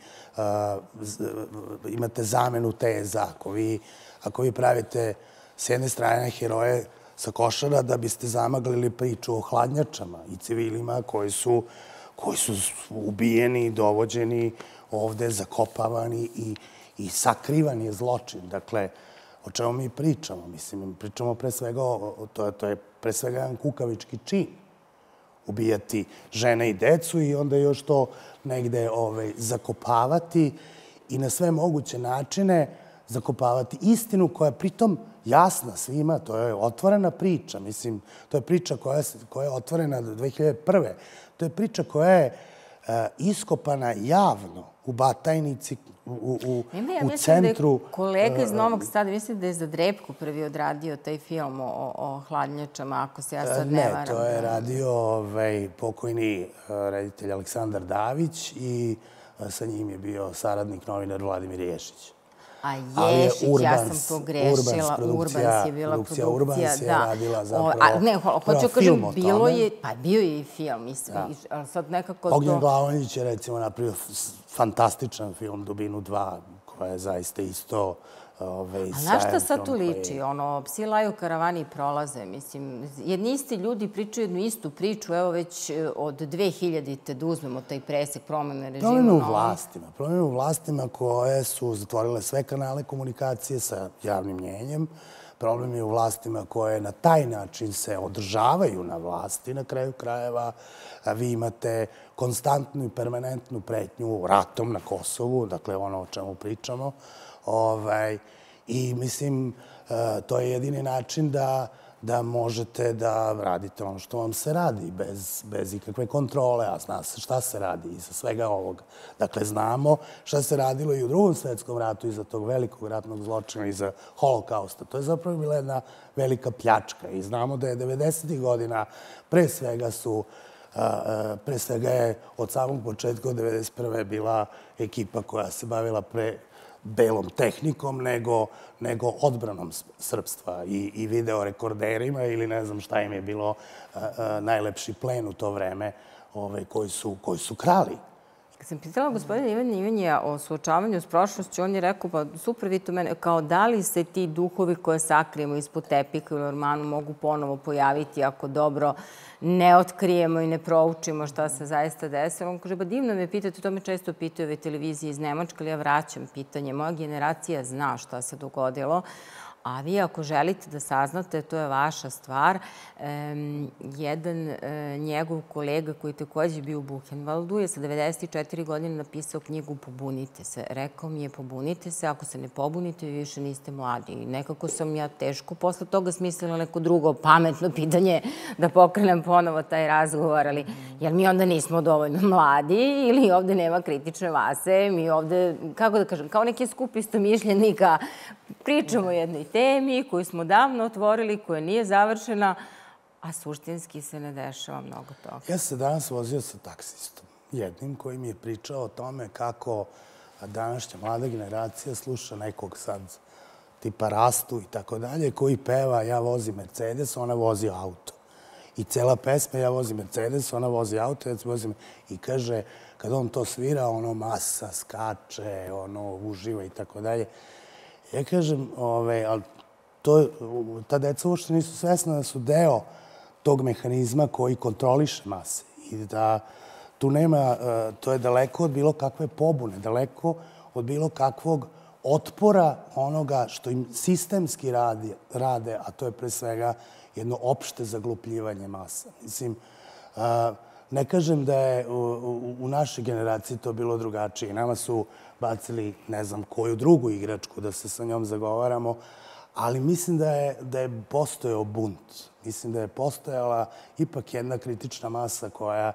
imate zamenu teza, ako vi pravite s jedne strane heroje sa Košara da biste zamaglili priču o hladnjačama i civilima koji su ubijeni, dovođeni ovde, zakopavani i sakrivan je zločin. Dakle, o čemu mi pričamo? Mislim, pričamo pre svega, to je pre svega jedan kukavički čin. Ubijati žene i decu i onda još to negde zakopavati i na sve moguće načine zakopavati istinu koja je pritom jasna svima. To je otvorena priča. Mislim, to je priča koja je otvorena 2001. To je priča koja je iskopana javno u Batajnici, u centru. Kolega iz Novog Sada, mislim da je za Drepku prvi odradio taj film o hladnjačama, ako se ja sad ne varam. Ne, to je radio pokojni reditelj Aleksandar Davić i sa njim je bio saradnik novinar Vladimir Ješić. A Ješić, ja sam pogrešila. Urbans je bila produkcija. Urbans je radila zapravo ne, hoću kažem, bilo je, pa bio je i film, mislim, ali sad nekako to... Ognjen Glavonjić je recimo napravio fantastičan film Dubinu 2, koja je zaista isto A na šta sad tu liči? Psi laju, karavani prolaze. Mislim, jedni isti ljudi pričaju jednu istu priču, evo već od 2000-te da uzmemo taj presek promene režima. Problem je u vlastima koje su zatvorile sve kanale komunikacije sa javnim mnjenjem. Problem je u vlastima koje na taj način se održavaju na vlasti na kraju krajeva. Vi imate konstantnu i permanentnu pretnju ratom na Kosovu, dakle ono o čemu pričamo. I mislim, to je jedini način da možete da radite ono što vam se radi, bez ikakve kontrole, a zna se šta se radi iza svega ovoga. Dakle, znamo šta se radilo i u Drugom svetskom ratu, iza tog velikog ratnog zločina, iza holokausta. To je zapravo bila jedna velika pljačka i znamo da je 90. godina pre svega je od samog početka od 91. bila ekipa koja se bavila belom tehnikom nego odbranom srpstva i videorekorderima ili ne znam šta im je bilo najlepši plen u to vreme koji su krali. Kad sam pitala gospodina Ivana Ivanjija o suočavanju s prošlošću, on je rekao, pa super, vi to mene, kao da li se ti duhovi koje sakrijemo ispod tepika ili ormanu mogu ponovo pojaviti ako dobro ne otkrijemo i ne proučimo šta se zaista desilo. On kaže, ba divno me pitate, to me često pitaju ove televizije iz Nemačke, ali ja vraćam pitanje. Moja generacija zna šta se dogodilo, a vi ako želite da saznate, to je vaša stvar. Jedan njegov kolega koji takođe bio u Buchenwaldu je sa 94 godine napisao knjigu Pobunite se. Rekao mi je pobunite se, ako se ne pobunite, vi više niste mladi. I nekako sam ja teško posle toga smislila neko drugo pametno pitanje da pokrenem ponovo taj razgovor, ali jer mi onda nismo dovoljno mladi ili ovde nema kritične mase, mi ovde, kako da kažem, kao neki skup istomišljenika pričamo o jednoj temi koju smo davno otvorili, koja nije završena, a suštinski se ne dešava mnogo toga. Ja sam se danas vozio sa taksistom, jednim koji mi je pričao o tome kako današnja mlada generacija sluša nekog sad tipa Rastu i tako dalje, koji peva ja vozim Mercedes, ona vozi auto. I cela pesma ja vozim Mercedes, ona vozi auto, ja vozim i kaže, kad on to svira, ono masa skače, ono uživa i tako dalje. Ja kažem, ali ta deca uopšte nisu svesna da su deo tog mehanizma koji kontroliše mase i da tu nema, to je daleko od bilo kakve pobune, daleko od bilo kakvog otpora onoga što im sistemski rade, a to je pre svega jedno opšte zaglupljivanje masa. Mislim, ne kažem da je u našoj generaciji to bilo drugačije. Nama su bacili ne znam koju drugu igračku da se sa njom zagovaramo, ali mislim da je postojao bunt. Mislim da je postojala ipak jedna kritična masa koja,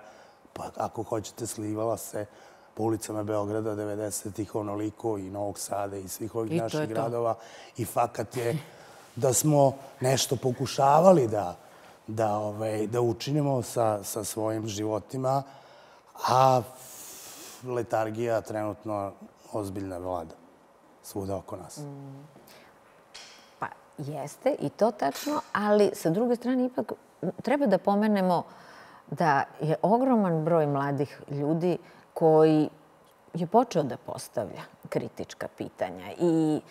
pa ako hoćete, slivala se po ulicama Beograda 90-ih onoliko i Novog Sada i svih ovih naših gradova. I fakat je da smo nešto pokušavali da učinimo sa svojim životima, a letargija trenutno ozbiljna vlada svuda oko nas. Pa jeste i to tačno, ali sa druge strane ipak treba da pomenemo da je ogroman broj mladih ljudi koji je počeo da postavlja kritička pitanja i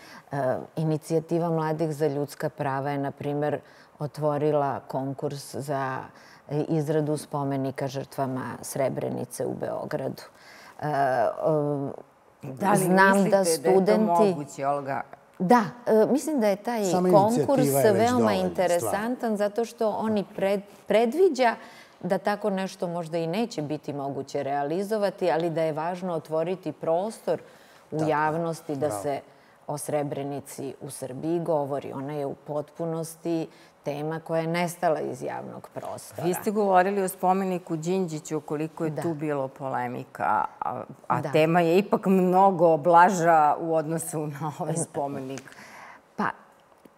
inicijativa Mladih za ljudska prava je, na primer, otvorila konkurs za izradu spomenika žrtvama Srebrenice u Beogradu. Da li mislite da je to moguće, Olga? Da, mislim da je taj konkurs veoma interesantan zato što oni predviđa da tako nešto možda i neće biti moguće realizovati, ali da je važno otvoriti prostor u javnosti da se o Srebrenici u Srbiji govori. Ona je u potpunosti tema koja je nestala iz javnog prostora. Vi ste govorili o spomeniku Đinđiću, koliko je tu bilo polemika, a tema je ipak mnogo blaža u odnosu na ovaj spomenik. Pa,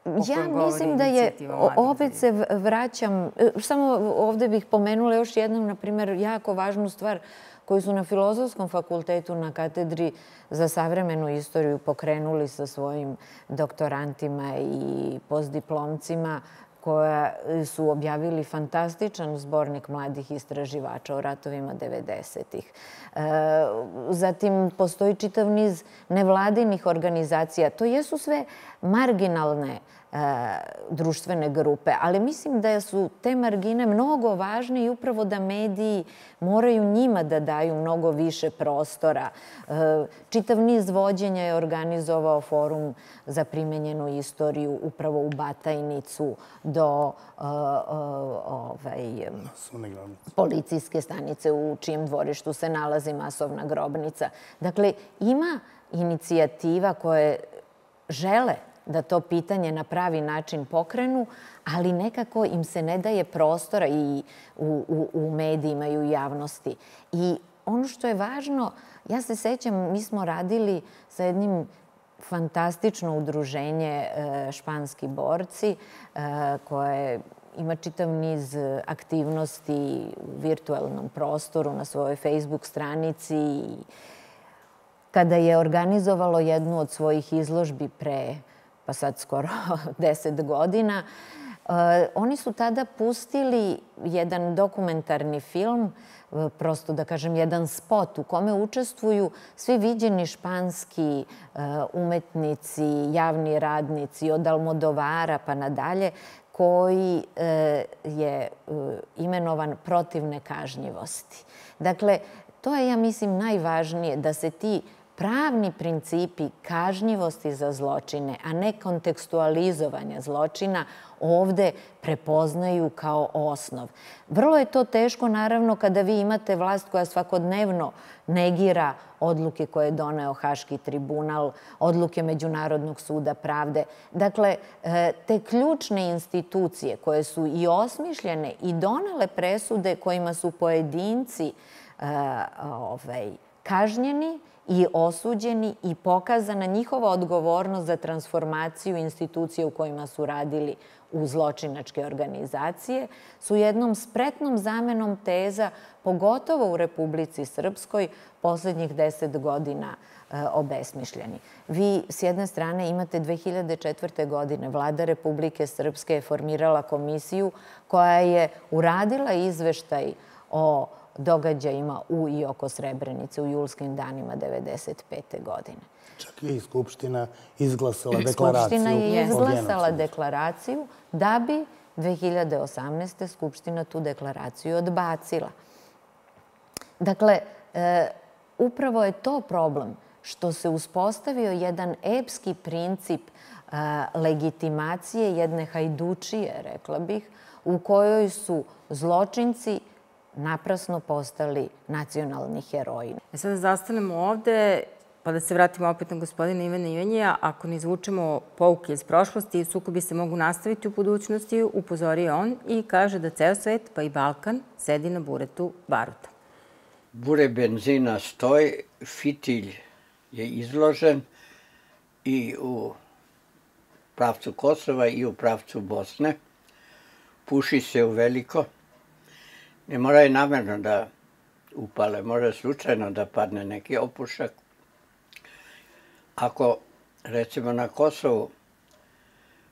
ja mislim da je, opet se vraćam, samo ovde bih pomenula još jednom, na primjer, jako važnu stvar koju su na Filozofskom fakultetu na katedri za savremenu istoriju pokrenuli sa svojim doktorantima i postdiplomcima, koja su objavili fantastičan zbornik mladih istraživača o ratovima 90-ih. Zatim, postoji čitav niz nevladinih organizacija. To jesu sve marginalne društvene grupe, ali mislim da su te margine mnogo važne i upravo da mediji moraju njima da daju mnogo više prostora. Čitav niz vođenja je organizovao Forum za primenjenu istoriju upravo u Batajnicu do policijske stanice u čijem dvorištu se nalazi masovna grobnica. Dakle, ima inicijativa koje žele da to pitanje na pravi način pokrenu, ali nekako im se ne daje prostora i u medijima i u javnosti. I ono što je važno, ja se sećam, mi smo radili sa jednim fantastično udruženje Španski borci, koje ima čitav niz aktivnosti u virtualnom prostoru na svojoj Facebook stranici. Kada je organizovalo jednu od svojih izložbi pre, pa sad skoro 10 godina, oni su tada pustili jedan dokumentarni film, prosto da kažem jedan spot u kome učestvuju svi viđeni španski umetnici, javni radnici, od Almodovara pa nadalje, koji je imenovan protiv nekažnjivosti. Dakle, to je, ja mislim, najvažnije, da se ti pravni principi kažnjivosti za zločine, a ne kontekstualizovanja zločina, ovde prepoznaju kao osnov. Vrlo je to teško, naravno, kada vi imate vlast koja svakodnevno negira odluke koje je doneo Haški tribunal, odluke Međunarodnog suda pravde. Dakle, te ključne institucije koje su i osmišljene i donele presude kojima su pojedinci kažnjeni i osuđeni i pokazana njihova odgovornost za transformaciju institucije u kojima su radili u zločinačke organizacije, su jednom spretnom zamenom teza, pogotovo u Republici Srpskoj, poslednjih 10 godina obesmišljeni. Vi s jedne strane imate 2004. godine Vlada Republike Srpske je formirala komisiju koja je uradila izveštaj o događajima u i oko Srebrenice u julskim danima 1995. godine. Čak je i Skupština izglasala deklaraciju. Skupština je izglasala deklaraciju da bi 2018. Skupština tu deklaraciju odbacila. Dakle, upravo je to problem što se uspostavio jedan epski princip legitimacije jedne hajdučije, rekla bih, u kojoj su zločinci naprasno postali nacionalni heroji. Sada zastanemo ovde, pa da se vratimo opet na gospodina Ivana Ivanjija. Ako ne izvučemo pouke iz prošlosti, sukobi se mogu nastaviti u budućnosti, upozorio on i kaže da ceo svet, pa i Balkan, sedi na buretu baruta. Bure benzina stoji, fitilj je izložen i u pravcu Kosova i u pravcu Bosne. Puši se u veliko. Ne moraju namerno da upale, može slučajno da padne neki opušak. Ako, recimo, na Kosovu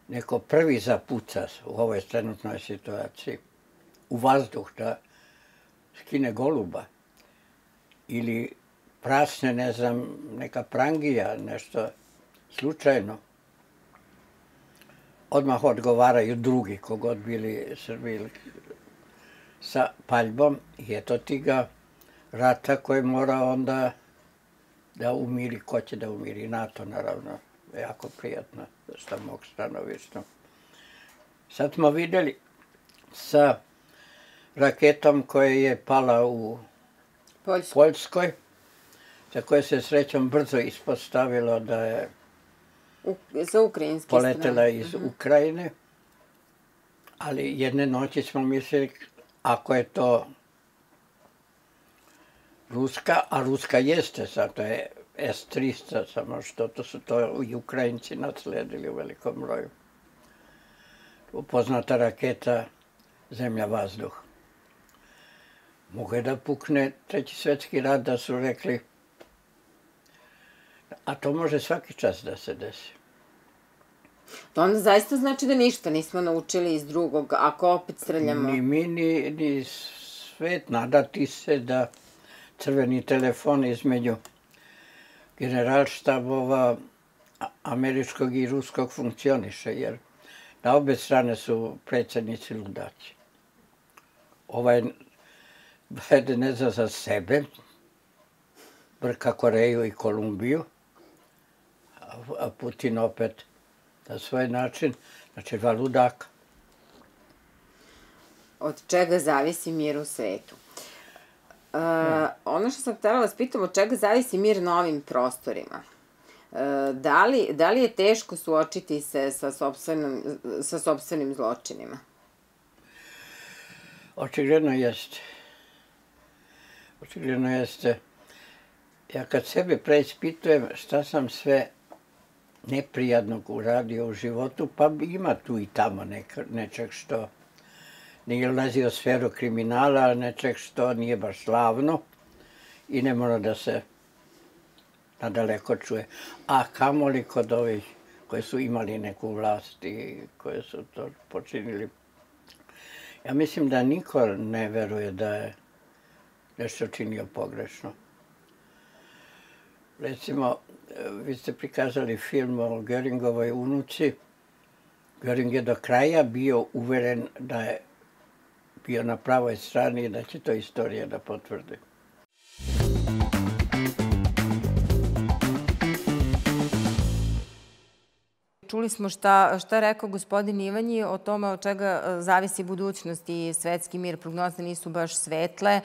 neko prvi zapuca u ovoj trenutnoj situaciji, u vazduh da skine goluba ili prasne, ne znam, neka prangija, nešto slučajno, odmah odgovaraju drugi, kogod bili Srbi sa paljbom, i eto ti ga rata koji mora onda da umiri. Ko će da umiri? NATO, naravno. Jako prijatno sa mog stanovišta. Sad smo videli sa raketom koja je pala u Poljskoj, za koje se srećom brzo ispostavilo da je poletela iz Ukrajine. Ali jedne noći smo mislili, ako je to ruska, a ruska jeste, sad to je S-300, samo što to su to i Ukrajinci nasledili u velikom broju. Poznata raketa zemlja-vazduh. Mogu je da pukne Treći svetski rat, da su rekli, a to može svaki čas da se desi. To onda zaista znači da ništa nismo naučili iz drugog, ako opet streljamo. Ni mi, ni svet. Nadati se da crveni telefon između generalštabova američkog i ruskog funkcioniše, jer na obe strane su predsjednici ludaci. Ovaj Biden ne zna za sebe, brka Koreju i Kolumbiju, a Putin opet na svoj način, znači dva ludaka. Od čega zavisi mir u svetu? Ono što sam htjela vas pitam, od čega zavisi mir na ovim prostorima? Da li je teško suočiti se sa sopstvenim zločinima? Očigledno jeste. Očigledno jeste. Ja kad sebe preispitujem šta sam sve neprijatnog uradio u životu, pa ima tu i tamo nečeg što nije ulazio u sferu kriminala, nečeg što nije baš slavno i ne mora da se nadaleko čuje. A kamoli kod ovih koji su imali neku vlast i koji su to počinili. Ja mislim da niko ne veruje da je nešto činio pogrešno. Recimo, vi ste prikazali film o Göringovoj unuci. Göring je do kraja bio uveren da je bio na pravoj strani i da će to istorija da potvrdi. Čuli smo šta rekao gospodin Ivanji o tome od čega zavisi budućnost i svetski mir. Prognoze nisu baš svetle.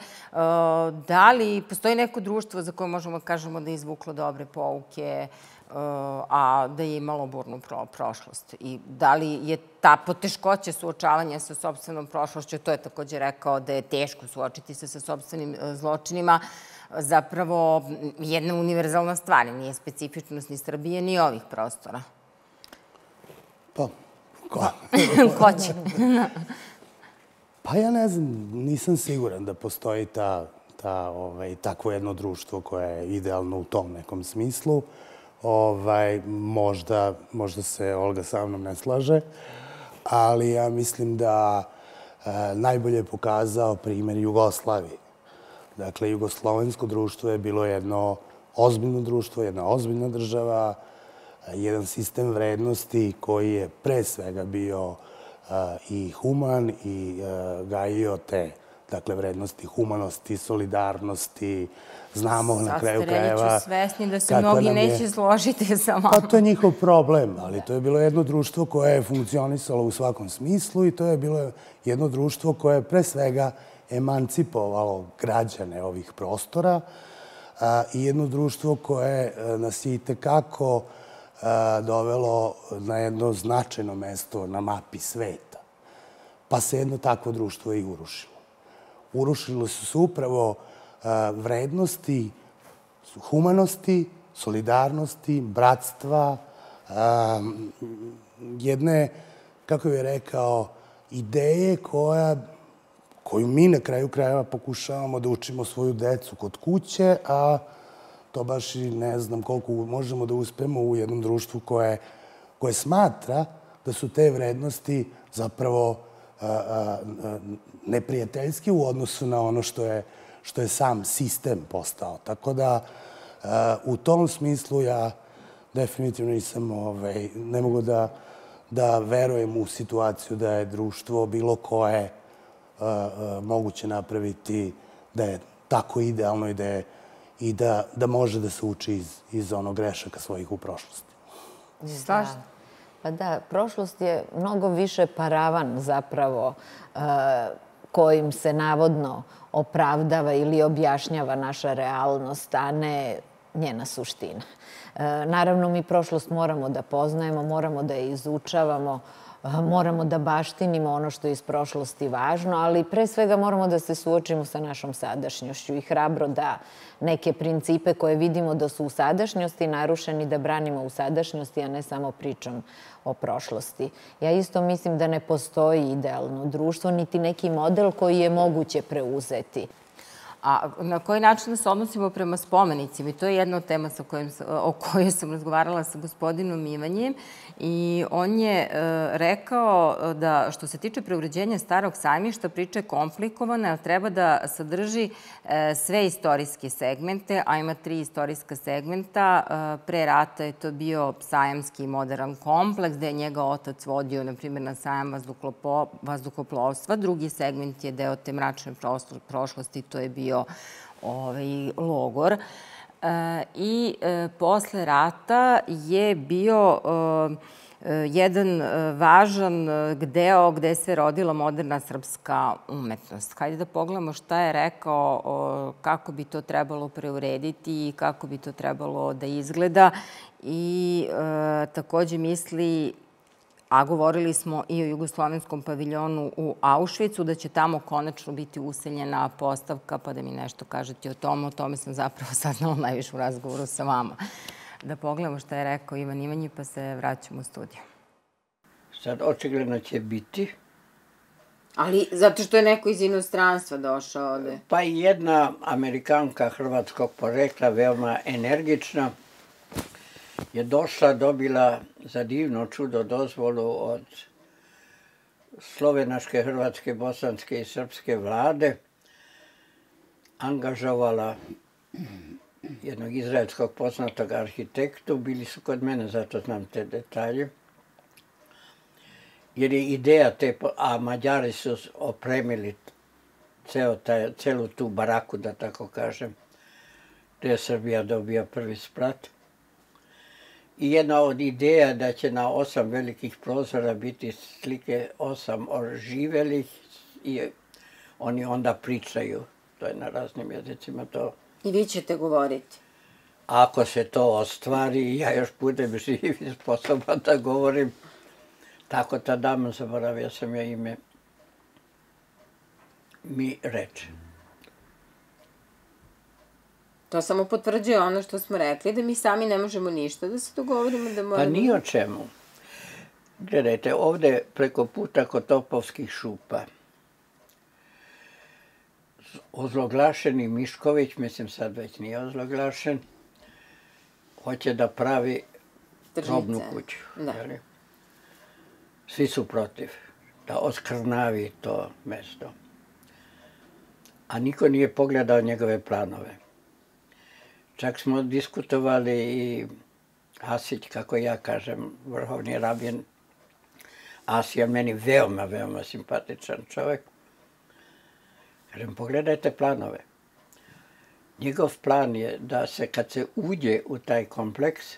Da li postoji neko društvo za koje možemo da kažemo da je izvuklo dobre pouke, a da je imalo burnu prošlost? I da li je ta poteškoća suočavanja sa sopstvenom prošlošću, to je takođe rekao da je teško suočiti se sa sopstvenim zločinima, zapravo jedna univerzalna stvar, nije specifičnost ni Srbije ni ovih prostora? Pa, Ko će? Pa ja ne znam, nisam siguran da postoji takvo jedno društvo koje je idealno u tom nekom smislu. Možda se Olga sa mnom ne slaže, ali ja mislim da najbolje je pokazao primer Jugoslavije. Dakle, jugoslovensko društvo je bilo jedno ozbiljno društvo, jedna ozbiljna država, jedan sistem vrednosti koji je pre svega bio i human i gajio te vrednosti humanosti, solidarnosti. Znamo na kraju krajeva... Sad ste reći svesni da se mnogi neće složiti sa vama. Pa to je njihov problem, ali to je bilo jedno društvo koje je funkcionisalo u svakom smislu i to je bilo jedno društvo koje je pre svega emancipovalo građane ovih prostora i jedno društvo koje nas je itekako dovelo na jedno značajno mesto na mapi sveta. Pa se jedno takvo društvo i urušilo. Urušilo su se upravo vrednosti humanosti, solidarnosti, bratstva, jedne, kako bih rekao, ideje koju mi na kraju krajeva pokušavamo da učimo svoju decu kod kuće, a to baš i ne znam koliko možemo da uspemo u jednom društvu koje smatra da su te vrednosti zapravo neprijateljski u odnosu na ono što je sam sistem postao. Tako da u tom smislu ja definitivno ne mogu da verujem u situaciju da je društvo bilo koje moguće napraviti da je tako idealno i da može da se uči iz onog grešaka svojih u prošlosti. Slažete? Pa da, prošlost je mnogo više paravan zapravo kojim se navodno opravdava ili objašnjava naša realnost, a ne njena suština. Naravno, mi prošlost moramo da poznajemo, moramo da je izučavamo, moramo da baštinimo ono što je iz prošlosti važno, ali pre svega moramo da se suočimo sa našom sadašnjošću i hrabro da neke principe koje vidimo da su u sadašnjosti narušeni da branimo u sadašnjosti, a ne samo pričom o prošlosti. Ja isto mislim da ne postoji idealno društvo, niti neki model koji je moguće preuzeti. A na koji način se odnosimo prema spomenicima? I to je jedna od tema o kojoj sam razgovarala sa gospodinom Ivanjem. I on je rekao da što se tiče preuređenja Starog sajmišta, priča je komplikovana, jer treba da sadrži sve istorijske segmente, a ima 3 istorijska segmenta. Pre rata je to bio sajamski modern kompleks, gde je njega otac vodio, na primjer, na sajam vazduhoplovstva. Drugi segment je deo te mračne prošlosti, to je bio logor. I posle rata je bio jedan važan deo gde se rodila moderna srpska umetnost. Hajde da pogledamo šta je rekao, kako bi to trebalo preurediti i kako bi to trebalo da izgleda. I takođe misli, a govorili smo i o jugoslovenskom paviljonu u Auschwitzu, da će tamo konačno biti useljena postavka, pa da mi nešto kažete o tome. O tome sam zapravo saznala najviše u razgovoru sa vama. Da pogledamo šta je rekao Ivan Ivanji, pa se vraćamo u studiju. Sad, očigledno će biti. Ali zato što je neko iz inostranstva došao ovde. Pa i jedna Amerikanka hrvatskog porekla, veoma energična, je došla, dobila za divno čudo dozvolu od slovenačke, hrvatske, bosanske i srpske vlade, angažovala jednog izraelskog poznatog arhitektu, bili su kod mene, zato znam te detalje, jer je ideja te, a Mađari su opremili celu tu baraku, da tako kažem, gde je Srbija dobija prvi sprat. I jedna od ideja da će na 8 velikih prozora biti slike 8 oživelih i oni onda pričaju, to je na raznim jezicima to. I vi ćete govoriti? Ako se to ostvari, ja još budem živ i sposoban da govorim. Tako ta dama, zaboravio sam ja ime, mi reče. To samo potvrđuje ono što smo rekli, da mi sami ne možemo ništa, da se dogovorimo da moramo... Pa ni o čemu. Gledajte, ovde preko puta kod Topovskih šupa, ozloglašeni Mišković, mislim sad već nije ozloglašen, hoće da pravi robnu kuću. Svi su protiv, da oskrnavi to mesto. A niko nije pogledao njegove planove. Čak smo diskutovali i Asić, kako ja kažem, vrhovni rabin Asija, meni veoma, veoma simpatičan čovek. Kažem, pogledajte planove. Njegov plan je da se, kad se uđe u taj kompleks,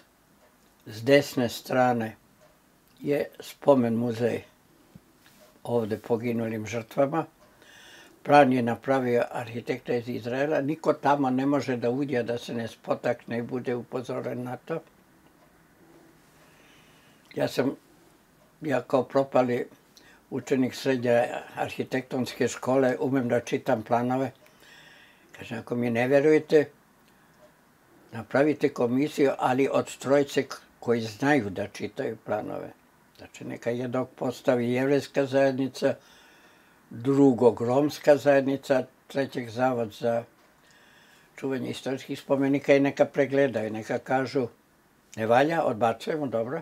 s desne strane je spomen muzej ovde poginulim žrtvama. Plan je napravio arhitekta iz Izraela. Niko tamo ne može da uđe, da se ne spotakne i bude upozoren na to. Ja kao propali učenik srednje arhitektonske škole umem da čitam planove. Kažem, ako mi ne verujete, napravite komisiju, ali od trojice koji znaju da čitaju planove. Znači, neka jednog postavi jevrejska zajednica, drugog romska zajednica, trećeg zavod za čuvanje istorijskih spomenika i neka pregledaju, neka kažu ne valja, odbacujemo, dobro,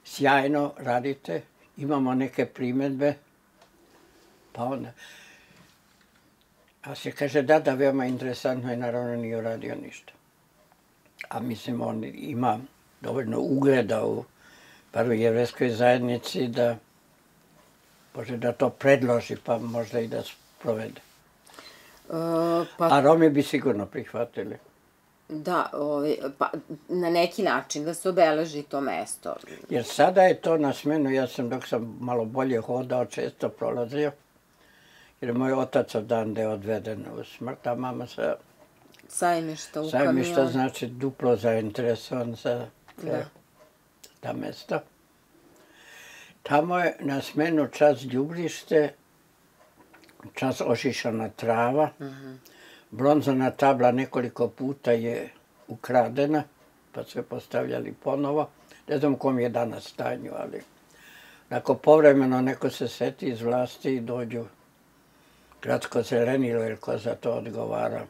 sjajno radite, imamo neke primedbe, pa onda. A se kaže da, veoma interesantno i naravno nije uradio ništa. A mislim, on ima dovoljno ugleda u prvoj jevrejskoj zajednici da može da to predloži, pa možda i da sprovede. A Romi bi sigurno prihvatili. Da, pa na neki način da se obeleži to mesto. Jer sada je to na smenu, ja sam dok sam malo bolje hodao, često prolazio, jer je moj otac odande odveden u smrt, a mama sa Sajmišta u kamionu. Sajmišta znači duplo zainteresovan za ta mesta. Tamo je na smenu čas đubrište, čas ošišana trava, bronzana tabla nekoliko puta je ukradena, pa su je postavljali ponovo. Ne znam u kom je danas stanju, ali ako povremeno neko se seti iz vlasti i dođu gradsko zelenilo ili ko za to odgovara.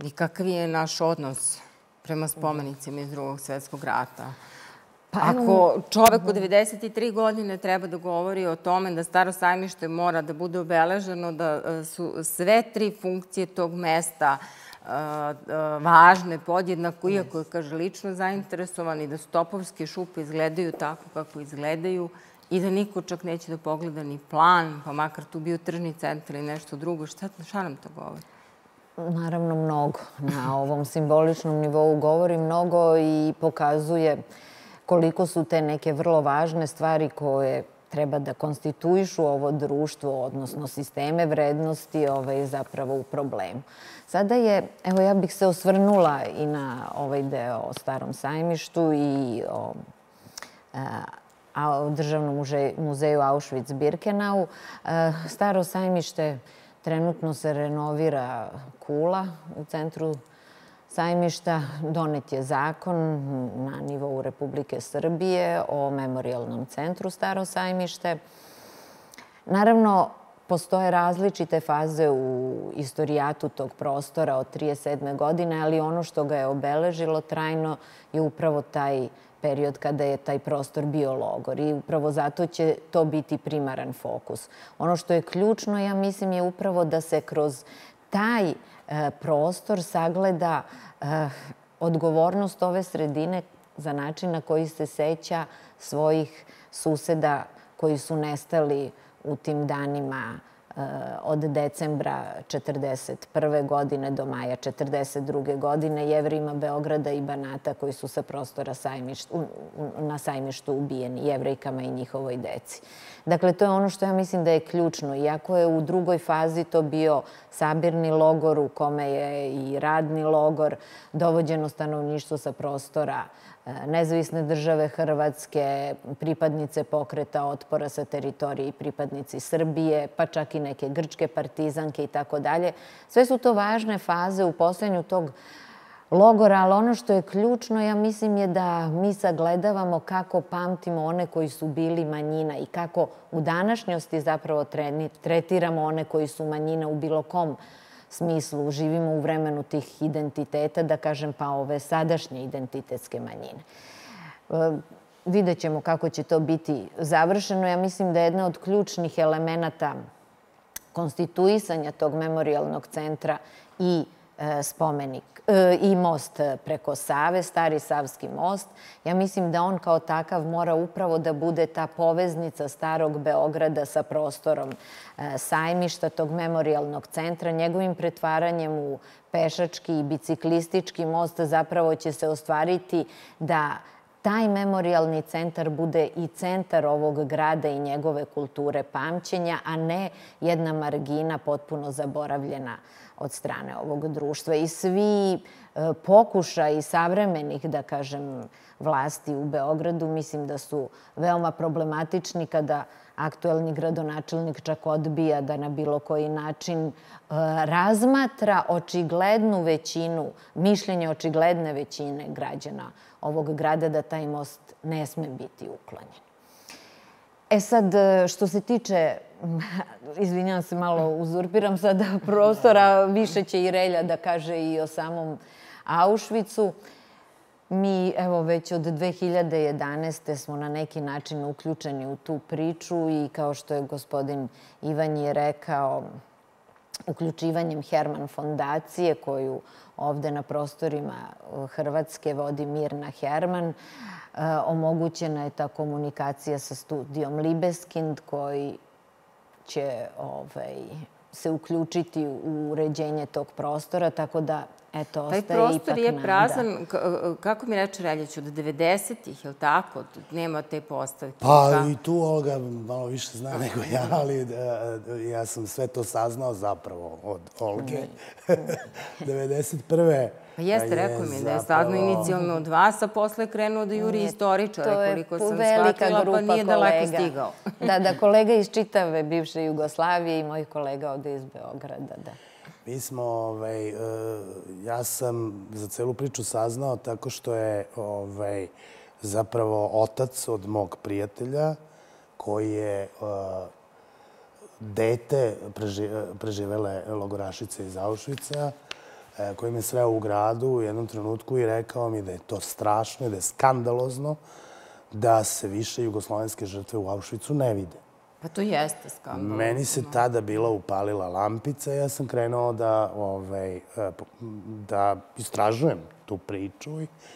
I kakav je naš odnos prema spomenicima iz Drugog svjetskog rata? Ako čovek od 93 godine treba da govori o tome da Staro sajmište mora da bude obeleženo, da su sve 3 funkcije tog mesta važne, podjednako, iako je, kaže, lično zainteresovan i da su Topovske šupe izgledaju tako kako izgledaju i da niko čak neće da pogleda ni plan, pa makar tu bio tržni centar ili nešto drugo. Šta nam to govori? Naravno mnogo. Na ovom simboličnom nivou govori mnogo i pokazuje koliko su te neke vrlo važne stvari koje treba da konstituišu ovo društvo, odnosno sisteme vrednosti, zapravo u problemu. Sada je, evo ja bih se osvrnula i na ovaj deo o Starom sajmištu i o Državnom muzeju Auschwitz-Birkenau. Staro sajmište trenutno se renovira kula u centru sajmišta. Donet je zakon na nivou Republike Srbije o memorijalnom centru Staro sajmište. Naravno, postoje različite faze u istorijatu tog prostora od 1937. godine, ali ono što ga je obeležilo trajno je upravo taj period kada je taj prostor bio logor i upravo zato će to biti primaran fokus. Ono što je ključno, ja mislim, je upravo da se kroz taj prostor sagleda odgovornost ove sredine za način na koji se seća svojih suseda koji su nestali u tim danima od decembra 1941. godine do maja 1942. godine, Jevrejima Beograda i Banata koji su sa prostora na sajmištu ubijeni, Jevrejkama i njihovoj deci. Dakle, to je ono što ja mislim da je ključno. Iako je u drugoj fazi to bio sabirni logor u kome je i radni logor, dovođeno stanovništvo sa prostora Nezavisne države Hrvatske, pripadnice pokreta otpora sa teritorije i pripadnici Srbije, pa čak i neke grčke partizanke i tako dalje. Sve su to važne faze u postojanju tog logora, ali ono što je ključno, ja mislim, je da mi sagledavamo kako pamtimo one koji su bili manjina i kako u današnjosti zapravo tretiramo one koji su manjina u bilo kom smislu. Živimo u vremenu tih identiteta, da kažem, pa ove sadašnje identitetske manjine. Vidjet ćemo kako će to biti završeno. Ja mislim da je jedna od ključnih elemenata konstituisanja tog memorijalnog centra i spomenik i most preko Save, Stari Savski most. Ja mislim da on kao takav mora upravo da bude ta poveznica Starog Beograda sa prostorom sajmišta, tog memorijalnog centra. Njegovim pretvaranjem u pešački i biciklistički most zapravo će se ostvariti da taj memorijalni centar bude i centar ovog grada i njegove kulture pamćenja, a ne jedna margina potpuno zaboravljena od strane ovog društva. I svi pokušaji savremenih, da kažem, vlasti u Beogradu, mislim da su veoma problematični kada aktuelni gradonačelnik čak odbija da na bilo koji način razmatra očiglednu većinu, mišljenje očigledne većine građana ovog grada da taj most ne sme biti uklonjen. E sad, što se tiče, izvinjam se, malo uzurpiram sada prostora, više će i Relja da kaže i o samom Auschwitzu. Mi, evo, već od 2011. smo na neki način uključeni u tu priču i kao što je gospodin Ivan je rekao, uključivanjem Herman fondacije, koju ovde na prostorima Hrvatske vodi Mirna Herman, omogućena je ta komunikacija sa studijom Libeskind, koji će se uključiti u uređenje tog prostora, tako da, eto, ostaje ipak nada. Taj prostor je prazan, kako mi reče Reljić, od 90-ih, je li tako? Nema te postavke. Pa i tu Olga malo više zna nego ja, ali ja sam sve to saznao zapravo od Olge. 91. Pa jeste, rekao mi da je saznao inicijalno od vas, a posle krenuo da juri istoričare, koliko sam shvatila, pa nije daleko stigao. Da, kolega iz čitave bivše Jugoslavije i moj kolega ovde iz Beograda, da. Mi smo, ja sam za celu priču saznao tako što je zapravo otac od mog prijatelja, koji je dete preživele logorašice iz Auschwitza, koji me sreo u gradu u jednom trenutku i rekao mi da je to strašno i da je skandalozno da se više jugoslovenske žrtve u Auschwitzu ne vide. Pa to jeste skandalozno. Meni se tada bila upalila lampica i ja sam krenuo da istražujem tu priču.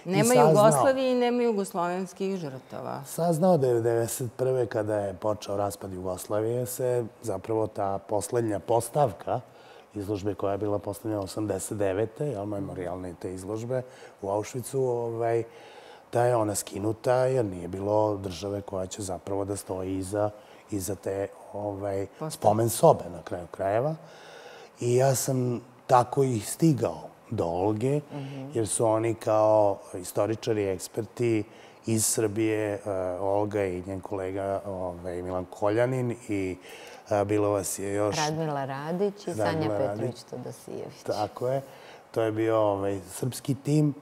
Nema Jugoslavije i nema jugoslovenskih žrtava. Saznao da je 1991. kada je počeo raspad Jugoslavije se zapravo ta poslednja postavka izložbe koja je bila postavljena 89. Memorijalne te izložbe u Auschwitzu, da je ona skinuta jer nije bilo države koja će zapravo da stoji iza te spomen sobe na kraju krajeva. I ja sam tako i stigao do Olge, jer su oni kao istoričari, eksperti iz Srbije, Olga i njen kolega Milan Koljanin i bilo vas je još... Radmila Radić i Sanja Petrović-Todosijević. Tako je. To je bio srpski tim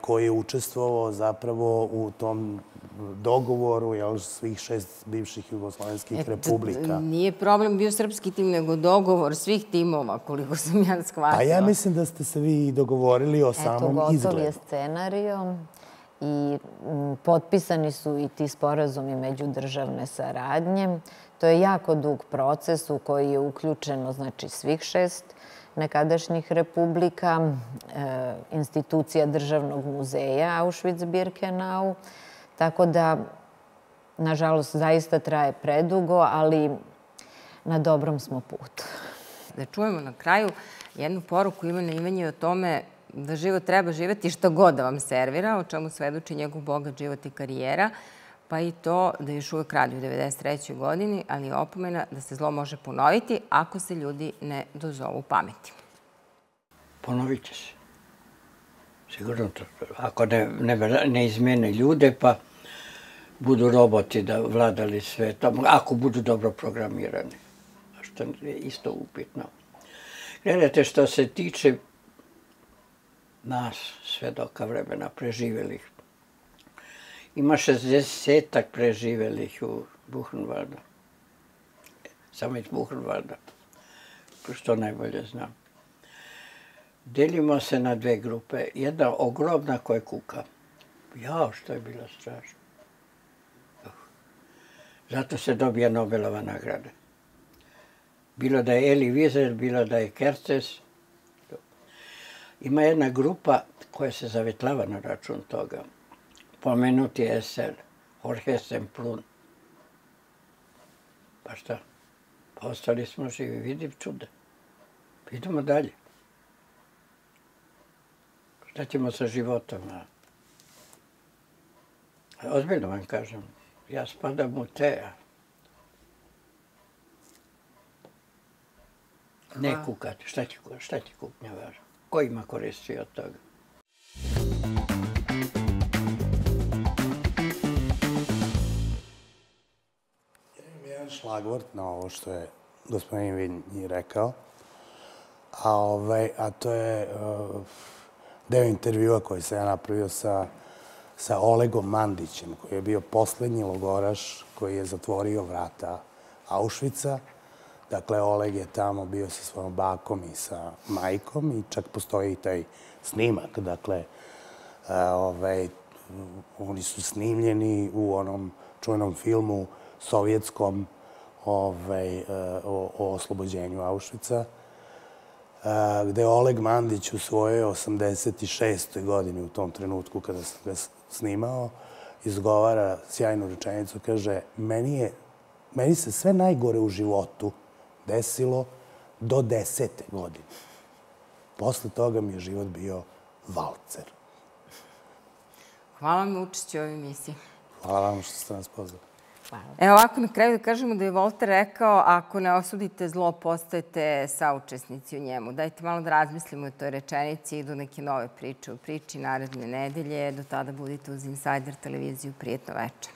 koji je učestvovao zapravo u tom dogovoru svih 6 bivših jugoslovenskih republika. Nije problem bio srpski tim, nego dogovor svih timova, koliko sam ja shvatila. Pa ja mislim da ste se vi dogovorili o samom izgledu. Eto, gotov je scenario i potpisani su i ti sporazumi međudržavne saradnje. To je jako dug proces u koji je uključeno, znači, svih 6 nekadašnjih republika, institucija Državnog muzeja Auschwitz-Birkenau. Tako da, nažalost, zaista traje predugo, ali na dobrom smo putu. Da čujemo na kraju jednu poruku Ivana Ivanje o tome da život treba živeti šta god da vam servira, o čemu svedoči njegov bogat život i karijera, pa i to da još uvek radi u 93. godini, ali je opomena da se zlo može ponoviti ako se ljudi ne dozovu pameti. Ponovit će se. Sigurno to. Ako ne izmene ljude, pa budu roboti da vladali svetom, ako budu dobro programirani, što je isto upitno. Gledajte, što se tiče nas, svedoka vremena, preživelih, ima 60-ak preživelih u Buchenwaldu. Samo iz Buchenwalda, što najbolje znam. Delimo se na 2 grupe. Jedna ogromna koja kuka. Jao, što je bilo strašno. Zato se dobija Nobelova nagrada. Bilo da je Elie Wiesel, bilo da je Kertész. Ima jedna grupa koja se zavetlava na račun toga. Pomenuti je SL, Jorge Semplun. Pa šta? Pa ostali smo živi, vidim čuda. Idemo dalje. Šta ćemo sa životom? Ozbiljno vam kažem, ja spadam u te. Ne kukati, šta će kupnja važno? Ko ima koristi od toga? Jedan šlagvort na ovo što je gospodin Vinji rekao, a to je deo intervjua koji sam ja napravio sa Olegom Mandićem, koji je bio poslednji logoraš koji je zatvorio vrata Auschwitza. Dakle, Oleg je tamo bio sa svojom bakom i sa majkom i čak postoji i taj snimak. Dakle, oni su snimljeni u onom čuvenom filmu sovjetskom o oslobođenju Auschwitza, gde Oleg Mandić u svojoj 86. godini, u tom trenutku kada sam ga snimao, izgovara sjajnu rečenicu, kaže, meni se sve najgore u životu desilo do 10. godine. Posle toga mi je život bio valcer. Hvala vam na učešću u ovoj emisiji. Hvala vam što ste nas pozvali. Evo ovako, na kraju da kažemo da je Volter rekao, ako ne osudite zlo, postajete saučesnici u njemu. Dajte malo da razmislimo o toj rečenici i do neke nove priče u priči naredne nedelje. Do tada budite uz Insider televiziju. Prijetno večer.